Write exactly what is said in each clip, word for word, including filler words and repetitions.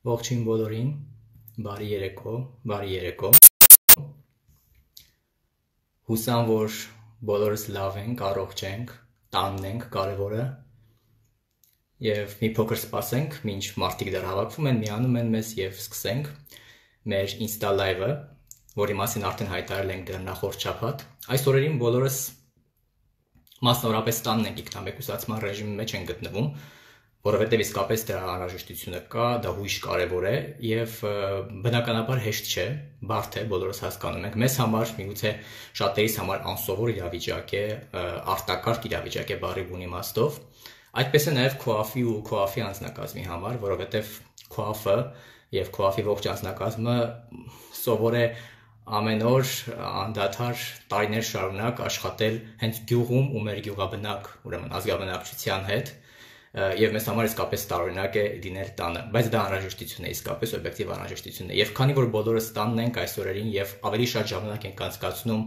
Ողջույն բոլորին, բարի երեկո, բարի երեկո։ Հուսամ, որ բոլորս լավ ենք, առողջ ենք, տանն ենք կարևորը։ Եվ մի փոքր սպասենք, մինչ մարդիկ դեռ հավաքվում են, միանում են մեզ եւ սկսենք մեր Insta Live-ը, որի մասին արդեն հայտարարել ենք դեռ նախորդ շաբաթ։ Այս օրերին բոլորս մասնավորապես տանն ենք ինքնամեկուսացման ռեժիմի մեջ են գտնվում, որովհետև իսկապես դրա անհրաժեշտությունը կա, դա հույժ կարևոր է եւ բնականաբար հեշտ չէ, բարդ է, բոլորս հասկանում ենք։ Մեզ համար, միգուցե շատերիս համար անսովոր իրավիճակ է, արտակարգ իրավիճակ է բառի բուն իմաստով։ Այդպես է նաեւ քոաֆի ու քոաֆի անձնակազմի համար, որովհետև քոաֆը եւ քոաֆի ողջ անձնակազմը սովոր է ամեն օր անդադար տարիներ շարունակ աշխատել հենց գյուղում ու մեր գյուղաբնակ, ուրեմն ազգաբնակչության հետ, եւ մեզ համար իսկապես տարօրինակ է լինել տանը, բայց դա անհրաժեշտություն է, իսկապես օբյեկտիվ անհրաժեշտություն է։ Եվ քանի որ բոլորս տանն ենք այս օրերին եւ ավելի շատ ժամանակ ենք անցկացնում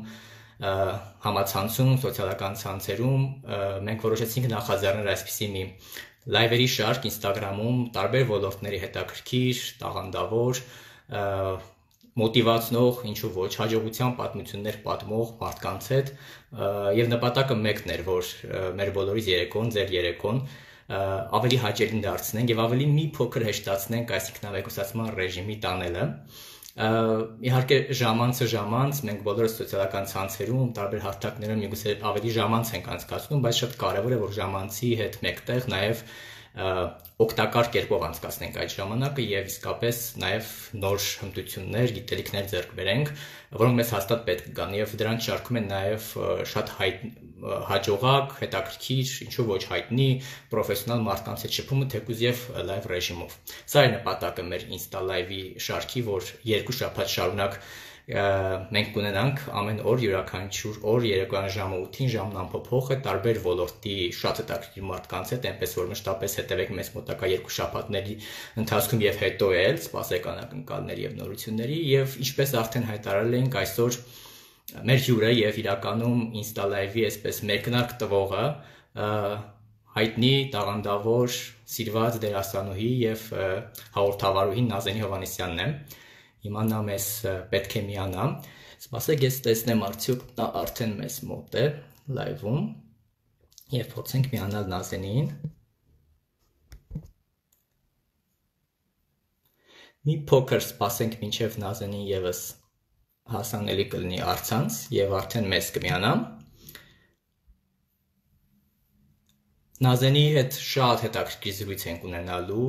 համացանցում, սոցիալական ցանցերում, մենք որոշեցինք նախաձեռնել այսպիսի մի լայվերի շարք Instagram-ում տարբեր ոլորտների հետաքրքիր, տաղանդավոր, մոտիվացնող, ինչու ոչ, հաջողության պատմություններ պատմող մարդկանց հետ եւ նպատակը մեկն էր, որ մեր բոլորիս երեկոն, ձեր երեկոն ավելի հաճելի դարձնենք եւ ավելի մի փոքր հեշտացնենք այս ինքնամեկուսացման ռեժիմի տանելը։ Իհարկե ժամանցը ժամանց մենք բոլորս սոցիալական ցանցերում, տարբեր հարթակներում միգուցե ավելի ժամանց ենք անցկացնում, բայց շատ կարեւոր է որ ժամանցի հետ մեկտեղ նաեւ օգտակար կերպով անցկացնենք այդ ժամանակը եւ իսկապես նաեւ նոր հմտություններ, գիտելիքներ ձեռք բերենք, որոնք մեզ հաստատ պետք կգան եւ դրանց շարքում են նաեւ շատ հայտ հաջողակ, հետաքրքիր, ինչու ոչ հայտնի, պրոֆեսիոնալ մարդկանց հետ շփումը թեկուզ եւ լայվ ռեժիմով։ Սա է նպատակը մեր Insta Live-ի շարքի, որ երկու շաբաթ շարունակ մենք կունենանք ամեն օր յուրաքանչյուր օր երեկոյան ժամը ութին ժամն անփոփոխ է տարբեր ոլորտի շատ հետաքրքիր մարդկանց հետ, այնպես որ մշտապես հետևեք մեզ մոտակա երկու շաբաթների ընթացքում եւ հետո էլ սպասեք անակնկալների եւ նորությունների եւ ինչպես արդեն հայտարարել ենք այսօր մեր հյուրը եւ իրականում Insta Live-ի այսպես մեկնարկ տվողը հայտնի տաղանդավոր սիրված դերասանուհի եւ հաղորդավարուհի Նազենի Հովհաննիսյանն է։ Հիմա նա մեզ պետք է միանա։ Սպասեք, ես տեսնեմ արդյոք նա արդեն մեզ մոտ է լայվում եւ փորձենք միանալ Նազենին։ Մի փոքր սպասենք մինչեւ Նազենին եւս հասանելի կլինի առցանց եւ արդեն մեզ կմիանա։ Նազենի հետ շատ հետաքրքիր զրույց ենք ունենալու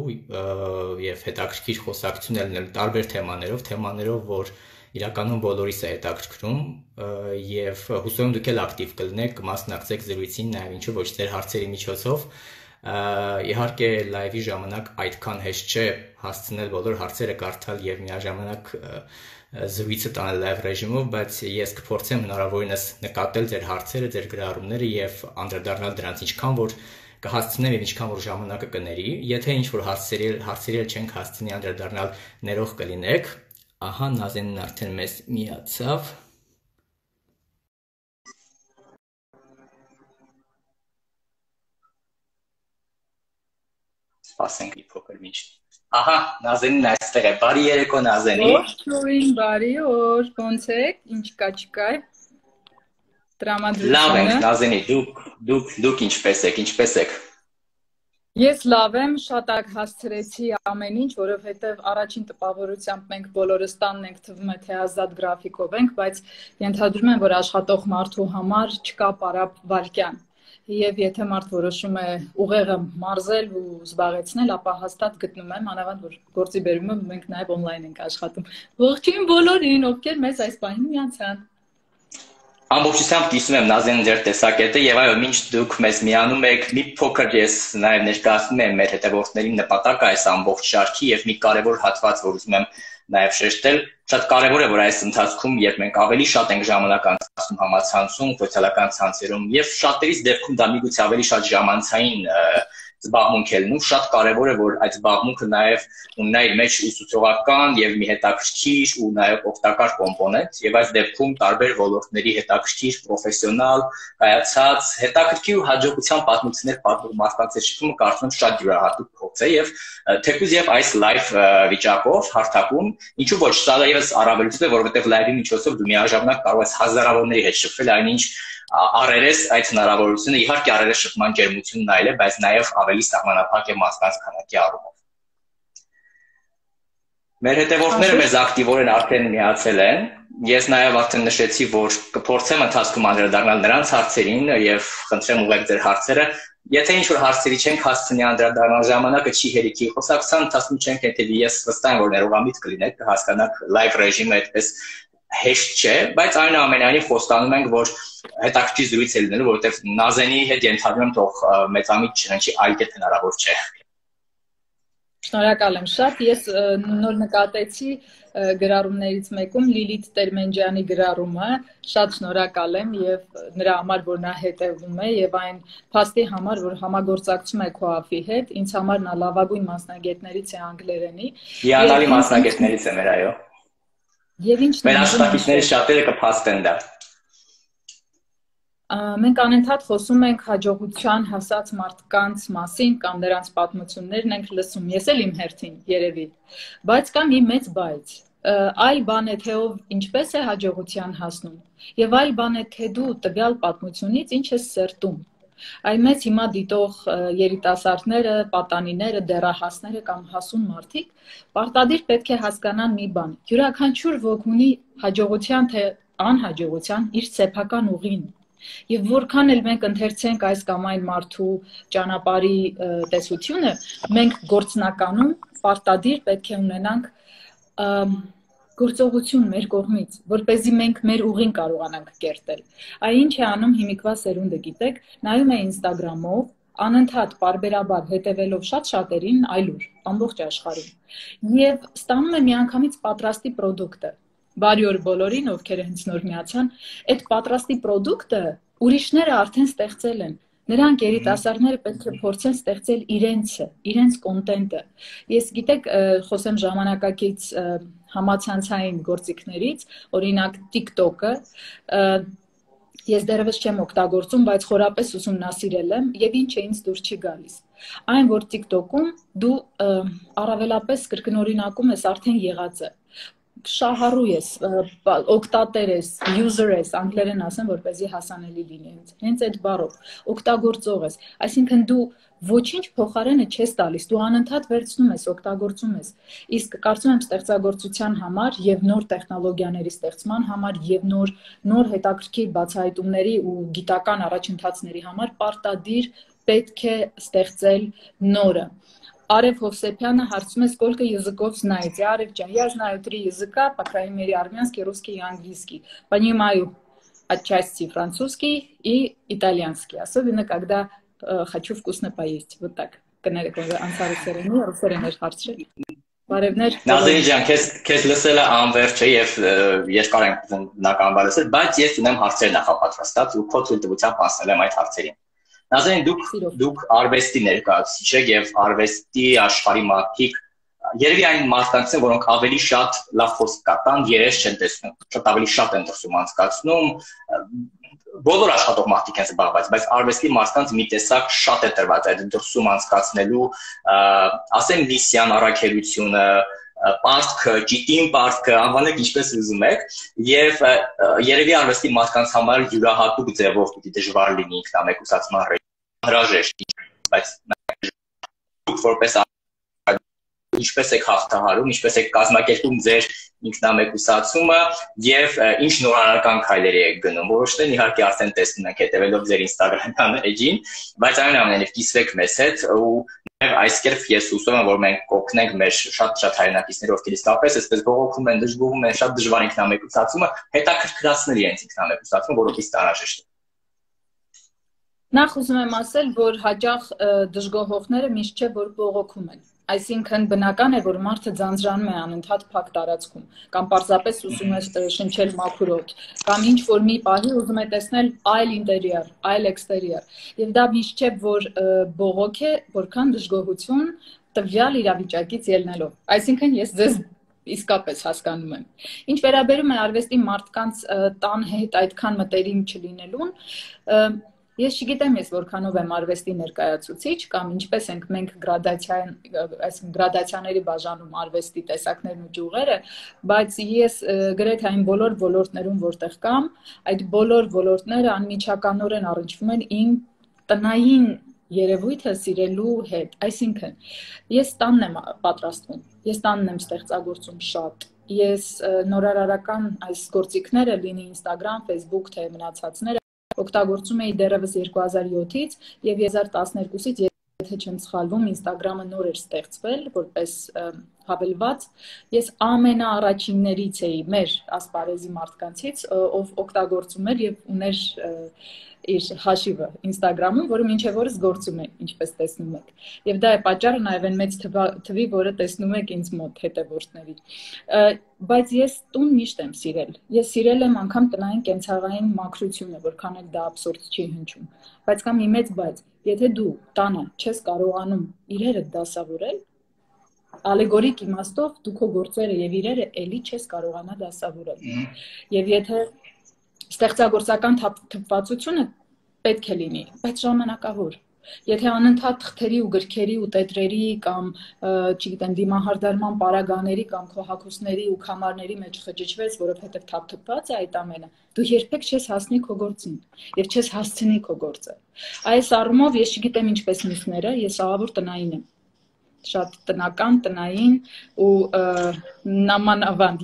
եւ հետաքրքիր խոսակցություն է լինելու տարբեր թեմաներով, թեմաներով, որ իրականում բոլորիս է հետաքրքրում եւ հուսով եմ դուք էլ ակտիվ կլինեք, կմասնակցեք զրույցին նաեւ ինչու ոչ ձեր հարցերի միջոցով։ Իհարկե լայվի ժամանակ այդքան հեշտ չէ հասցնել բոլոր հարցերը կարդալ եւ միաժամանակ զրույցը տանել լայվ ռեժիմով, բայց ես կփորձեմ հնարավորինս նկատել ձեր հարցերը, ձեր գրառումները եւ անդրադառնալ դրանց ինչքան որ կհասցնեմ եւ ինչքան որ ժամանակը կների։ Եթե ինչ որ հարցերի հարցերի չենք հասցնի անդրադառնալ, ներող կլինեք։ Ահա Նազենն արդեն մեզ միացավ։ Սպասենք մի փոքր մինչ։ Ահա Նազենին այստեղ է։ Բարի երեկո Նազենի։ Ողջույն, բարի օր, ոնց եք, ինչ կա չկա։ Տրամադրությունը։ Լավ ենք Նազենի, դուք դուք դուք ինչպես եք, ինչպես եք։ Ես լավ եմ, շատ ակ հասցրեցի ամեն ինչ, որովհետև առաջին տպավորությամբ մենք բոլորս տանն ենք, թվում է թե ազատ գրաֆիկով ենք, բայց ենթադրում եմ, որ աշխատող մարդու համար չկա պարապ վայրկյան։ Եվ եթե մարդ որոշում է ուղեղը մարզել ու զբաղեցնել, ապա հաստատ գտնում եմ, անավանդ որ գործի բերումը մենք նաև on-line ենք աշխատում։ Ողջույն բոլորին, ովքեր մեզ այս պահին միացան։ Ամբողջությամբ կիսում եմ Նազեն ձեր տեսակետը եւ այո, մինչ դուք մեզ միանում եք, մի փոքր ես նաեւ ներկայացնում եմ մեր հետևորդներին նպատակը այս ամբողջ շարքի եւ մի կարեւոր հատված, որ ուզում եմ նաեւ շեշտել, շատ կարեւոր է, որ այս ընթացքում, երբ մենք ավելի շատ ենք ժամանակ անցկացնում համացանցում, սոցիալական ցանցերում եւ շատերիս դեպքում դա միգուցե ավելի շատ ժամանցային զբաղմունք է լինում, շատ կարևոր է, որ այդ զբաղմունքը նաև ունենա իր մեջ ուսուցողական եւ մի հետաքրքիր ու նաև օգտակար կոմպոնենտ, եւ այս դեպքում տարբեր ոլորտների հետաքրքիր, պրոֆեսիոնալ, կայացած, հետաքրքիր ու հաջողության պատմություններ պատմող մարդկանց շփումը կարծում եմ շատ յուրահատուկ փորձ է եւ թեկուզ եւ այս live վիճակով հարթակում, ինչու ոչ, սա եւս առավելություն է, որովհետեւ live-ի միջոցով դու միաժամանակ կարող ես հազարավորների հետ շփվել, այնինչ առերես այդ հնարավորությունը իհարկե առերես շփման ջերմությունն այլ է, բայց նաև ավելի սահմանափակ է մարդկանց քանակի առումով։ Մեր հետևորդները մեզ ակտիվորեն արդեն միացել են։ Ես նաև արդեն նշեցի, որ կփորձեմ ընթացքում անդրադառնալ նրանց հարցերին եւ խնդրեմ ուղղեք ձեր հարցերը։ Եթե ինչ-որ հարցերի չենք հասցնի անդրադառնալ, ժամանակը չի հերիքի, խոսակցության ընթացքում չենք հետևի, ես վստահ եմ, որ ներողամիտ կլինեք, կհասկանաք live ռեժիմը այդպես հեշտ չէ, բայց այնուամենայնիվ խոստանում ենք, որ հետաքրքիր զրույց է լինելու, որովհետև Նազենի հետ ենթադրում եմ, թող մեծամիտ չնչի, այլ կերպ հնարավոր չէ։ Շնորհակալ եմ շատ, ես նոր նկատեցի գրառումներից մեկում Լիլիթ Տերմենջյանի գրառումը, շատ շնորհակալ եմ եւ նրա համար, որ նա հետևում է եւ այն փաստի համար, որ համագործակցում է քոաֆի հետ, ինձ համար նա լավագույն մասնագետներից է անգլերենի։ Հիանալի մասնագետներից է մեր, այո։ Եվ ինչն է մեր աշխատիչների շատերը կփաստեն դա։ Մենք անընդհատ խոսում ենք հաջողության հասած մարդկանց մասին կամ նրանց պատմություններն ենք լսում, ես էլ իմ հերթին երևի, բայց կա մի մեծ բայց, այլ բան է թե ով ինչպես է հաջողության հասնում եւ այլ բան է թե դու տվյալ պատմությունից ինչ ես սերտում։ Այն մեծ հիմա դիտող երիտասարդները, պատանիները, դեռահասները կամ հասուն մարդիկ պարտադիր պետք է հասկանան մի բան. յուրաքանչյուր ոք ունի հաջողության թե անհաջողության իր սեփական ուղին։ Եվ որքան էլ մենք ընթերցենք այս կամ այն մարդու ճանապարհի տեսությունը, մենք գործնականում պարտադիր պետք է ունենանք գործողություն մեր կողմից, որպեսզի մենք մեր ուղին կարողանանք կերտել։ Այն ինչ է անում հիմիկվա սերունդը, գիտեք, նայում է Instagram-ով, անընդհատ պարբերաբար հետևելով շատ շատերին այլուր, ամբողջ աշխարհում։ Եվ ստանում է միանգամից պատրաստի պրոդուկտը։ Բարի օր բոլորին, ովքեր հենց նոր միացան, այդ պատրաստի պրոդուկտը ուրիշները արդեն ստեղծել են։ Նրանք երիտասարդները պետք է փորձեն ստեղծել իրենցը, իրենց կոնտենտը։ Ես գիտեք, խոսեմ ժամանակակից համացանցային գործիքներից, օրինակ TikTok-ը, ես դեռևս չեմ օգտագործում, բայց խորապես ուսումնասիրել եմ եւ ինչ է ինձ դուր չի գալիս։ Այն, որ TikTok-ում դու առավելապես կրկնօրինակում ես արդեն եղածը։ Շահառու ես, օգտատեր ես, user ես, անգլերեն ասեմ, որպեսզի հասանելի լինի ինձ։ Հենց այդ բառով, օգտագործող ես, այսինքն դու ոչինչ փոխարենը չես տալիս, դու անընդհատ վերցնում ես, օգտագործում ես։ Իսկ կարծում եմ ստեղծագործության համար եւ նոր տեխնոլոգիաների ստեղծման համար եւ նոր նոր հետաքրքիր բացահայտումների ու գիտական առաջընթացների համար պարտադիր պետք է стեղծել нора. Արև Հովսեփյանը հարցում է, сколько языков знаете? Արև ջան, я знаю три языка, по крайней мере, армянский, русский и английский. Понимаю отчасти французский и итальянский, особенно когда э, хочу вкусно поесть. Вот так. Անսարի սերենի, ռուսերեն էր հարցրել։ Բարևներ։ Նազենի ջան, քեզ քեզ լսելը անվերջ է եւ երկար ենք բնականաբար լսել, բայց ես ունեմ հարցեր նախապատրաստած ու քո ցույցտվությամբ ասել եմ այդ հարցերին։ Նազեն, դուք դուք արվեստի ներկայացուցիչ եք եւ արվեստի աշխարհի մարդիկ երևի այն մարդկանց են, որոնք ավելի շատ լավ խոսք կատան, երես չեն տեսնում, շատ ավելի շատ են դրսում անցկացնում, բոլոր աշխատող մարդիկ են զբաղված, բայց արվեստի մարդկանց մի տեսակ շատ է տրված այդ դրսում անցկացնելու, ասեմ միսիան, առաքելությունը, պարտքը, ճիտին պարտքը, անվանեք ինչպես ուզում եք, եւ երևի արվեստի մարդկանց համար յուրահատուկ ձևով պիտի դժվար լինի ինքնամեկուսացման հրաժեշտ, բայց դուք որպես ինչպես եք հաղթահարում, ինչպես եք կազմակերպում ձեր ինքնամեկուսացումը եւ ինչ նորարարական քայլերի եք գնում։ Որոշներն իհարկե արդեն տեսնում ենք հետեւելով ձեր Instagram-յան էջին, բայց այնուամենայնիվ կիսվեք մեզ հետ ու նաեւ այս կերպ ես հուսում եմ, որ մենք կօգնենք մեր շատ-շատ հայրենակիցների, ովքեր իսկապես այսպես բողոքում են, դժգոհում են, շատ դժվար ինքնամեկուսացումը, հետաքրքրացնել իրենց ինքնամեկուսացումը, որովհետեւ տարաժեշտ է։ Նախ ուզում եմ ասել, որ հաճախ դժգոհողները միշտ չէ, որ բողոքում են։ Այսինքն բնական է, որ մարդը ձանձրանում է անընդհատ փակ տարածքում, կամ պարզապես ուզում է շնչել մաքուր օդ, կամ ինչ որ մի պահի ուզում է տեսնել այլ ինտերիեր, այլ էքստերիեր։ Եվ դա միշտ չէ, որ բողոք է, որքան դժգոհություն տվյալ իրավիճակից ելնելով։ Այսինքն ես ձեզ իսկապես հասկանում եմ։ Ինչ վերաբերում է արվեստի մարդկանց տան հետ այդքան մտերիմ չլինելուն, ես չգիտեմ ես որքանով եմ արվեստի ներկայացուցիչ կամ ինչպես ենք մենք գրադացիան, այսինքն գրադացիաների բաժանում արվեստի տեսակներն ու ճյուղերը, բայց ես գրեթե այն բոլոր ոլորտներում, որտեղ կամ, այդ բոլոր ոլորտները անմիջականորեն առնչվում են իմ տնային երևույթը սիրելու հետ, այսինքն ես տանն եմ պատրաստվում, ես տանն եմ ստեղծագործում շատ, ես նորարարական այս գործիքները լինի Instagram, Facebook, թե մնացածները օգտագործում էի դեռևս երկու հազար յոթից եւ երկու հազար տասներկուսից, եթե չեմ սխալվում, Instagram-ը նոր էր ստեղծվել որպես հավելված, ես ամենաառաջիններից էի մեր ասպարեզի մարդկանցից, ով օգտագործում էր եւ ուներ իր հաշիվը Instagram-ում, որը մինչև օրս գործում է, ինչպես տեսնում եք։ Եվ դա է պատճառը նաև այն մեծ թվի, որը տեսնում եք ինձ մոտ հետևորդների։ Բայց ես տուն միշտ եմ սիրել։ Ես սիրել եմ անգամ տնային կենցաղային մաքրությունը, որքան էլ դա աբսուրդ չի հնչում։ Բայց կա մի մեծ բայց, եթե դու տանը չես կարողանում իրերը դասավորել, ալեգորիկ իմաստով դու քո գործերը եւ իրերը էլի չես կարողանա դասավորել։ Եվ եթե ստեղծագործական թվվածությունը պետք է լինի, բայց ժամանակավոր։ Եթե անընդհատ թղթերի ու գրքերի ու տետրերի կամ, չգիտեմ, դիմահարդարման պարագաների կամ քո հագուստների ու քամարների մեջ խճճվես, որովհետև թափթփված է այդ ամենը, դու երբեք չես հասնի քո գործին եւ չես հասցնի քո գործը։ Այս առումով ես չգիտեմ ինչպես մյուսները, ես ահավոր տնային եմ։ Շատ տնական, տնային ու նամանավանդ,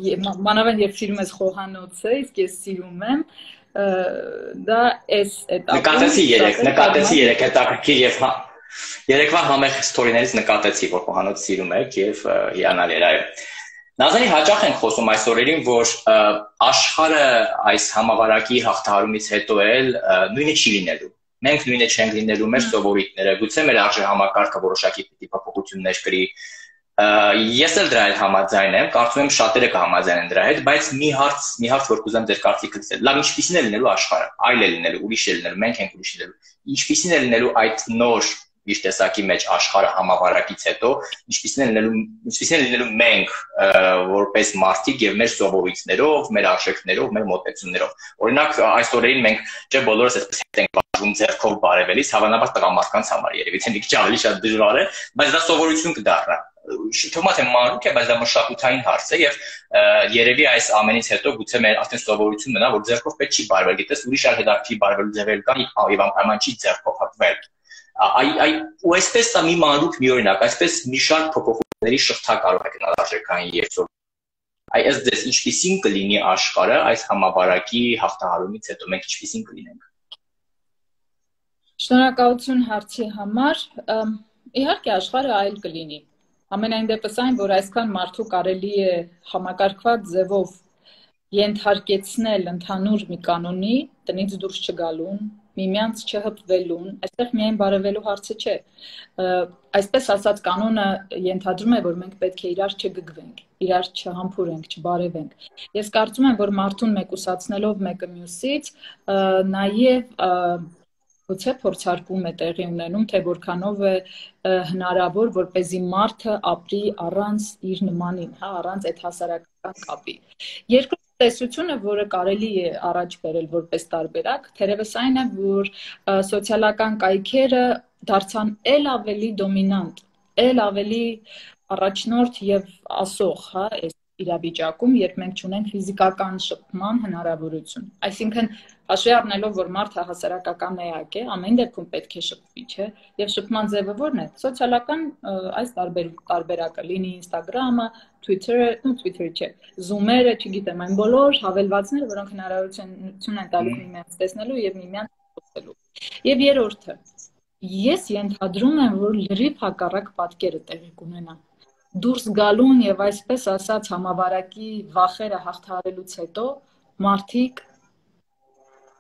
մանավանդ երբ սիրում ես խոհանոցը, իսկ ես սիրում եմ, դա էս էտապում։ Նկատեցի երեք, նկատեցի երեք հետաքրքիր եւ երեկվա համեղ ստորիներից նկատեցի, որ խոհանոց սիրում եք եւ հիանալի էր, այո։ Նազանի հաճախ ենք խոսում այս օրերին, որ աշխարհը այս համավարակի հաղթահարումից հետո էլ նույնը չի լինելու։ Մենք նույնը չենք լինելու մեր սովորույթները, գուցե մեր արժեհամակարգը որոշակի պիտի փոփոխություններ կրի։ Ես էլ դրա հետ համաձայն եմ, կարծում եմ շատերը կհամաձայնեն դրա հետ, բայց մի հարց, մի հարց որ կուզեմ ձեր կարծիքը լսել։ Լավ, ինչպիսին է լինելու աշխարհը, այլ է լինելու, ուրիշ է լինելու, մենք ենք ուրիշ լինելու։ Ինչպիսին է լինելու այդ նոր իր տեսակի մեջ աշխարհը համավարակից հետո, ինչպիսին է լինելու, ինչպիսին է լինելու մենք որպես մարդիկ եւ մեր սովորույթներով, մեր արժեքներով, մեր մոտեցումներով։ Օրինակ, այս օրերին մենք չէ բոլորս այսպես ենք բաժում ձեռքով բարևելիս, հավանաբար տղամարդկանց համար երևի թե մի քիչ ավելի շատ դժվար է, բայց դա սովորություն կդառնա։ Թվում է մանուկ է, բայց դա մշակութային հարց է եւ երևի այս ամենից հետո գուցե մեր արդեն սովորություն մնա, որ ձեռքով պետք չի բարվել, գիտես, ուրիշ այլ հետաքրքիր բարվելու ձևեր կան եւ անպայման չի ձեռքով հատվել։ Այ այ ու այսպես դա մի մանուկ մի օրինակ, այսպես մի շարք փոփոխությունների շղթա կարող է գնալ արժեքային երթով։ Այ ըստ ձեզ ինչպիսին կլինի աշխարհը այս համավարակի հաղթահարումից հետո, մենք ինչպիսին կլինենք։ Շնորհակալություն հարցի համար։ Իհարկե աշխարհը այլ կլինի։ Ամենայն դեպս այն, որ այսքան մարդու կարելի է համակարգված ձևով ենթարկեցնել ընդհանուր մի կանոնի, տնից դուրս չգալուն, միմյանց չհպվելուն, այստեղ միայն բարևելու հարցը չէ։ Այսպես ասած կանոնը ենթադրում է, որ մենք պետք է իրար չգգվենք, իրար չհամբուրենք, չբարևենք։ Ես կարծում եմ, որ մարդուն մեկուսացնելով մեկը մյուսից, նաև գուցե փորձարկում է տեղի ունենում, թե որքանով է հնարավոր, որպեսզի մարդը ապրի առանց իր նմանին, հա, առանց այդ հասարակական կապի։ Երկրորդ տեսությունը, որը կարելի է առաջ բերել որպես տարբերակ, թերևս այն է, որ սոցիալական կայքերը դարձան էլ ավելի դոմինանտ, էլ ավելի առաջնորդ եւ ասող, հա, այս իրավիճակում, երբ մենք ունենք ֆիզիկական շփման հնարավորություն։ Այսինքն հաշվի առնելով, որ մարդը հասարակական էակ է, ամեն դեպքում պետք է շփվի, չէ՞, եւ շփման ձևը ո՞րն է։ Սոցիալական այս տարբերակը լինի Instagram-ը, Twitter-ը, ու Twitter-ը չէ, Zoom-երը, չգիտեմ, այն բոլոր հավելվածները, որոնք հնարավորություն են տալու միմյանց տեսնելու եւ միմյանց խոսելու։ Եվ երրորդը, ես ենթադրում եմ, որ լրիվ հակառակ պատկերը տեղի կունենա։ Դուրս գալուն եւ այսպես ասած համավարակի վախերը հաղթահարելուց հետո մարդիկ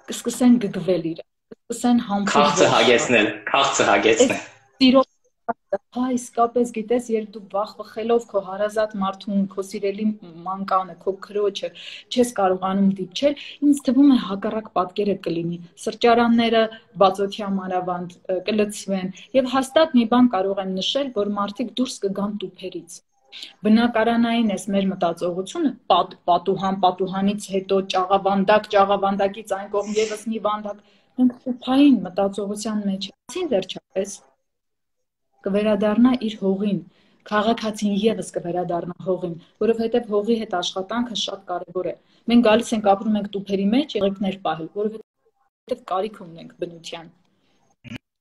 կսկսեն գգվել իրար, կսկսեն համբուրվել, քաղցը հագեցնել, քաղցը հագեցնել։ Սիրո հա, իսկապես գիտես, երբ դու վախ-վխելով քո հարազատ մարդուն, քո սիրելի մանկանը, քո քրոջը չես կարողանում դիպչել, ինձ թվում է հակառակ պատկերը կլինի։ Սրճարանները բացօթյա մանավանդ կլցվեն, եւ հաստատ մի բան կարող եմ նշել, որ մարդիկ դուրս կգան տուփերից։ Բնակարանային էս մեր մտածողությունը պատ, պատուհան, պատուհանից հետո ճաղավանդակ, ճաղավանդակից այն կողմ եւս մի վանդակ, մենք տուփային մտածողության մեջ ենք, վերջապես կվերադառնա իր հողին, քաղաքացին եւս կվերադառնա հողին, որովհետեւ հողի հետ աշխատանքը շատ կարեւոր է։ Մենք գալիս ենք ապրում ենք տուփերի մեջ, եղեգներ պահել, որովհետեւ կարիք ունենք բնության։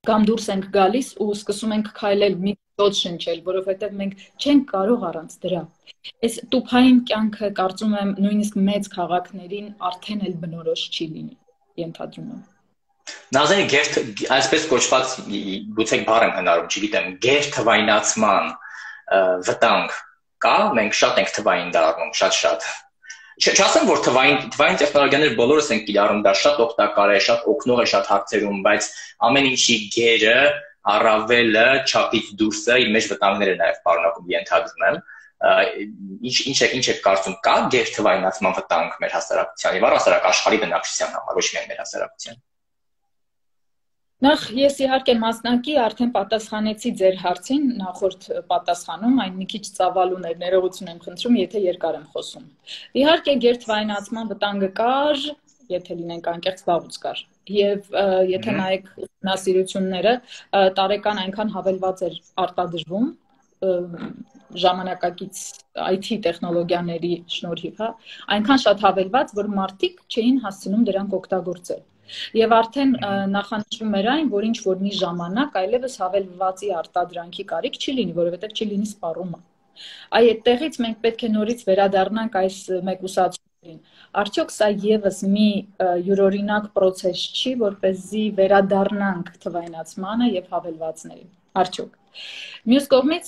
Կամ դուրս ենք գալիս ու սկսում ենք քայլել, մի ծոց շնչել, որովհետեւ մենք չենք կարող առանց դրա։ Այս տուփային կյանքը կարծում եմ նույնիսկ մեծ քաղաքներին արդեն էլ բնորոշ չի լինի, ենթադրում եմ։ Նազանի գերտ այսպես կոչված գուցե բառ եմ հնարում, չգիտեմ, գերթվայնացման վտանգ կա, մենք շատ ենք թվային դառնում, շատ-շատ։ Չասեմ, որ թվային թվային տեխնոլոգիաներ բոլորս ենք կիրառում, դա շատ օգտակար է, շատ օգնող է շատ հարցերում, բայց ամեն ինչի գերը, առավելը, չափից դուրսը իր մեջ վտանգներ է նաև պարունակում, ենթադրում եմ։ Ինչ ինչ է ինչ է կարծում կա գերթվայնացման վտանգ մեր հասարակության եւ առհասարակ աշխարհի բնակչության համար, ոչ միայն մեր հասարակության։ Նախ ես իհարկե մասնակի արդեն պատասխանեցի ձեր հարցին, նախորդ պատասխանում, այն մի քիչ ծավալուն էր, ներողություն եմ խնդրում, եթե երկար եմ խոսում։ Իհարկե գերթվայնացման վտանգը կար, եթե լինենք անկեղծ, վաղուց կար։ Եվ եթե նայեք ուսումնասիրությունները, տարեկան այնքան հավելված էր արտադրվում ժամանակակից I T տեխնոլոգիաների շնորհիվ, հա, այնքան շատ հավելված, որ մարդիկ չէին հասցնում դրանք օգտագործել։ Եվ արդեն նախանշվում էր այն, որ ինչ որ մի ժամանակ այլևս հավելվածի արտադրանքի կարիք չի լինի, որովհետև չի լինի սպառումը։ Այ այդտեղից մենք պետք է նորից վերադառնանք այս մեկուսացումներին։ Արդյոք սա եւս մի յուրօրինակ process չի, որպեսզի վերադառնանք թվայնացմանը եւ հավելվածներին։ Արդյոք։ Մյուս կողմից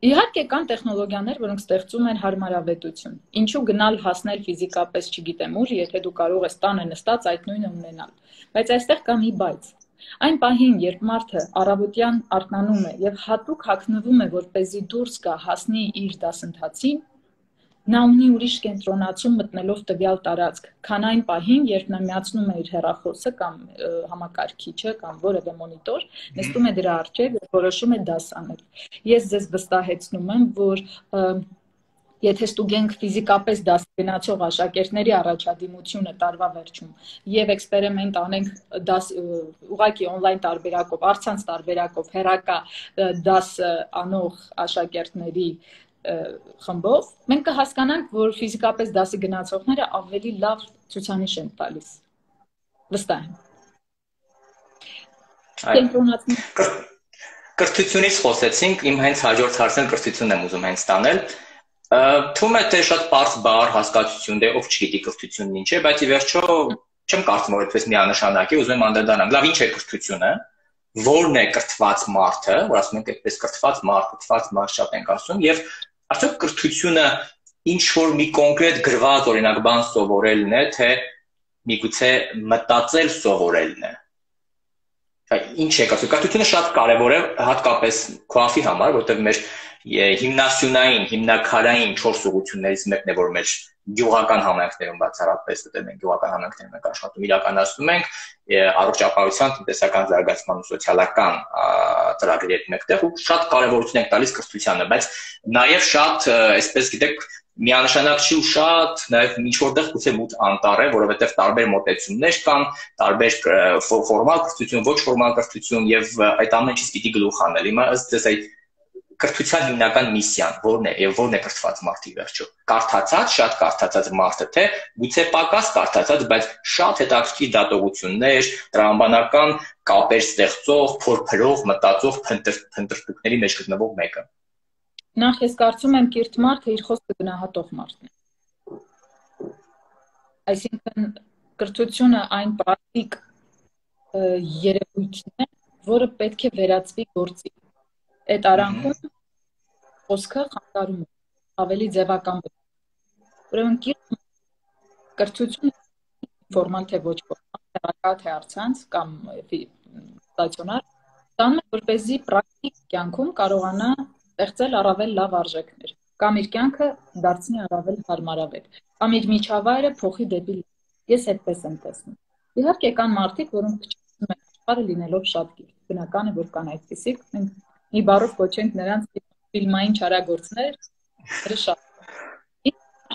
իհարկե կան տեխնոլոգիաներ, որոնք ստեղծում են հարմարավետություն։ Ինչու գնալ հասնել ֆիզիկապես, չգիտեմ ուր, եթե դու կարող ես տանը նստած այդ նույնը ունենալ։ Բայց այստեղ կա մի բայց։ Այն պահին, երբ մարդը առավոտյան արթնանում է եւ հատուկ հագնվում է, որպեսզի դուրս գա հասնի իր դասընթացին, նա ունի ուրիշ կենտրոնացում մտնելով տվյալ տարածք, քան այն պահին, երբ նա միացնում է իր հեռախոսը կամ համակարգիչը կամ որևէ մոնիտոր, նստում է դրա առջև եւ որոշում է դաս անել։ Ես ձեզ վստահեցնում եմ, որ եթե ստուգենք ֆիզիկապես դաս գնացող աշակերտների առաջադիմությունը տարվա վերջում եւ էքսպերիմենտ անենք դաս ուղղակի on-line տարբերակով, առցանց տարբերակով, հեռակա դաս անող աշակերտների խմբով, մենք կհասկանանք, որ ֆիզիկապես դասի գնացողները ավելի լավ ցուցանիշ են տալիս։ Վստահ եմ։ Կրթությունից խոսեցինք, իմ հենց հաջորդ հարցն կրթությունն եմ ուզում հենց տանել։ Թվում է թե շատ պարզ բառ հասկացություն դե ով չգիտի կրթությունն ինչ է, բայց ի վերջո չեմ կարծում որ այդպես միանշանակ է, ուզում եմ անդրադառնալ։ Լավ, ինչ է կրթությունը, որն է կրթված մարդը, որ ասում ենք այդպես կրթված մարդ, կրթված մարդ շատ ենք ասում, եւ արդյոք կրթությունը ինչ որ մի կոնկրետ գրված օրինակ բան սովորելն է, թե միգուցե մտածել սովորելն է։ Ինչ է կասում, կրթությունը շատ կարևոր է հատկապես քոաֆի համար, որտեղ մեր հիմնասյունային, հիմնակարային չորս ուղղություններից մեկն է, որ մեր գյուղական համայնքներում բացառապես, դե մենք գյուղական համայնքներում ենք աշխատում, իրականացնում ենք առողջապահության, տնտեսական զարգացման ու սոցիալական ծրագրերի մեկտեղ ու շատ կարևորություն ենք տալիս կրթությանը, բայց նաև շատ, այսպես գիտեք, միանշանակ չի ու շատ նաև ինչ որտեղ գուցե մութ անտառ է, որովհետև տարբեր մոտեցումներ կան, տարբեր ֆորմալ կրթություն, ոչ ֆորմալ կրթություն եւ այդ ամեն ինչից պիտի գլուխ անել։ Հիմա ըստ ձեզ այդ կրթության հիմնական միսիան որն է եւ որն է կրթված մարդի վերջո։ Կարդացած, շատ կարդացած մարդը, թե գուցե պակաս կարդացած, բայց շատ հետաքրքիր դատողություններ, տրամաբանական կապեր ստեղծող, փորփրող, մտածող փնտրտուքների մեջ գտնվող մեկը։ Նախ ես կարծում եմ կիրթ մարդը իր խոսքը գնահատող մարդն է։ Այսինքն կրթությունը այն պրակտիկ երևույթն է, որը պետք է վերածվի գործի։ Այդ արանքում խոսքը խանգարում է, ավելի ձևական։ Ուրեմն կիրթ կրթությունը ֆորմալ թե ոչ ֆորմալ, հեռակա թե առցանց կամ ստացիոնար, տանում է որպեսզի պրակտիկ իր կյանքում կարողանա ստեղծել առավել լավ արժեքներ, կամ իր կյանքը դարձնի առավել հարմարավետ, կամ իր միջավայրը փոխի դեպի լավ։ Ես այդպես եմ տեսնում։ Իհարկե կան մարդիկ, որոնք փչացնում են աշխարհը լինելով շատ կիրթ։ Բնական է, որ կան այդպիսիք, մենք մի բառով կոչենք նրանց ֆիլմային չարագործներ, շատ։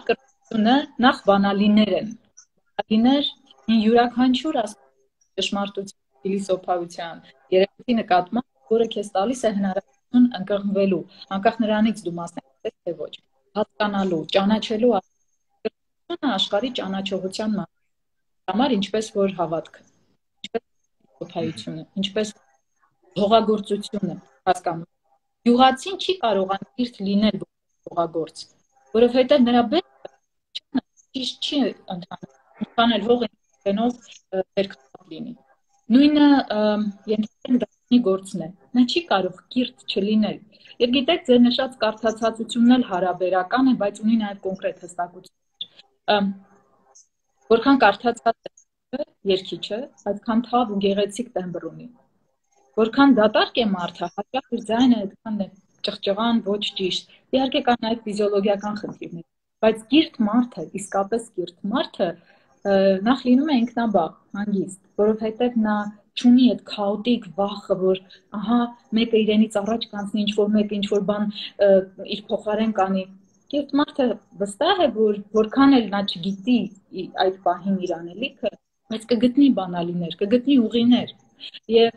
Կրթությունը նախ բանալիներ են։ Բանալիներ յուրաքանչյուր ճշմարտության, փիլիսոփայության, երևույթի նկատմամբ, որը քեզ տալիս է հնարավորություն ընկղմվելու, անկախ նրանից դու մասնակից ես թե ոչ, հասկանալու, ճանաչելու կրթությունը աշխարհի ճանաչողության համար, ինչպես որ հավատքը, ինչպես փիլիսոփայությունը, ինչպես հողագործությունը հասկանում։ Գյուղացին չի կարողանում կիրթ լինել հողագործ, որովհետև նրա բերքը ճիշտ չի ընթանում, ընդհանել հողը ինքնով վերքապատ լինի։ Նույնը ենթադրենք դասի գործն է, նա չի կարող կիրթ չլինել։ Եվ գիտեք, ձեր նշած կարդացածությունն էլ հարաբերական է, բայց ունի նաև կոնկրետ հստակություններ։ Որքան կարդացած է երգիչը, այդքան թավ ու գեղեցիկ տեմբր ունի։ Որքան դատարկ է մարդը, հաճախ իր ձայնը այդքան է ճղճղան, ոչ ճիշտ։ Իհարկե կան նաև ֆիզիոլոգիական խնդիրներ, բայց կիրթ մարդը, իսկապես կիրթ մարդը նախ լինում է ինքնաբավ, հանգիստ, որովհետև նա չունի այդ քաոտիկ վախը, որ ահա մեկը իրենից առաջ կանցնի, ինչ-որ մեկը ինչ-որ բան իր փոխարեն կանի։ Կիրթ մարդը վստահ է, որ որքան էլ նա չգիտի այդ պահին իր անելիքը, բայց կգտնի բանալիներ, կգտնի ուղիներ։ Եվ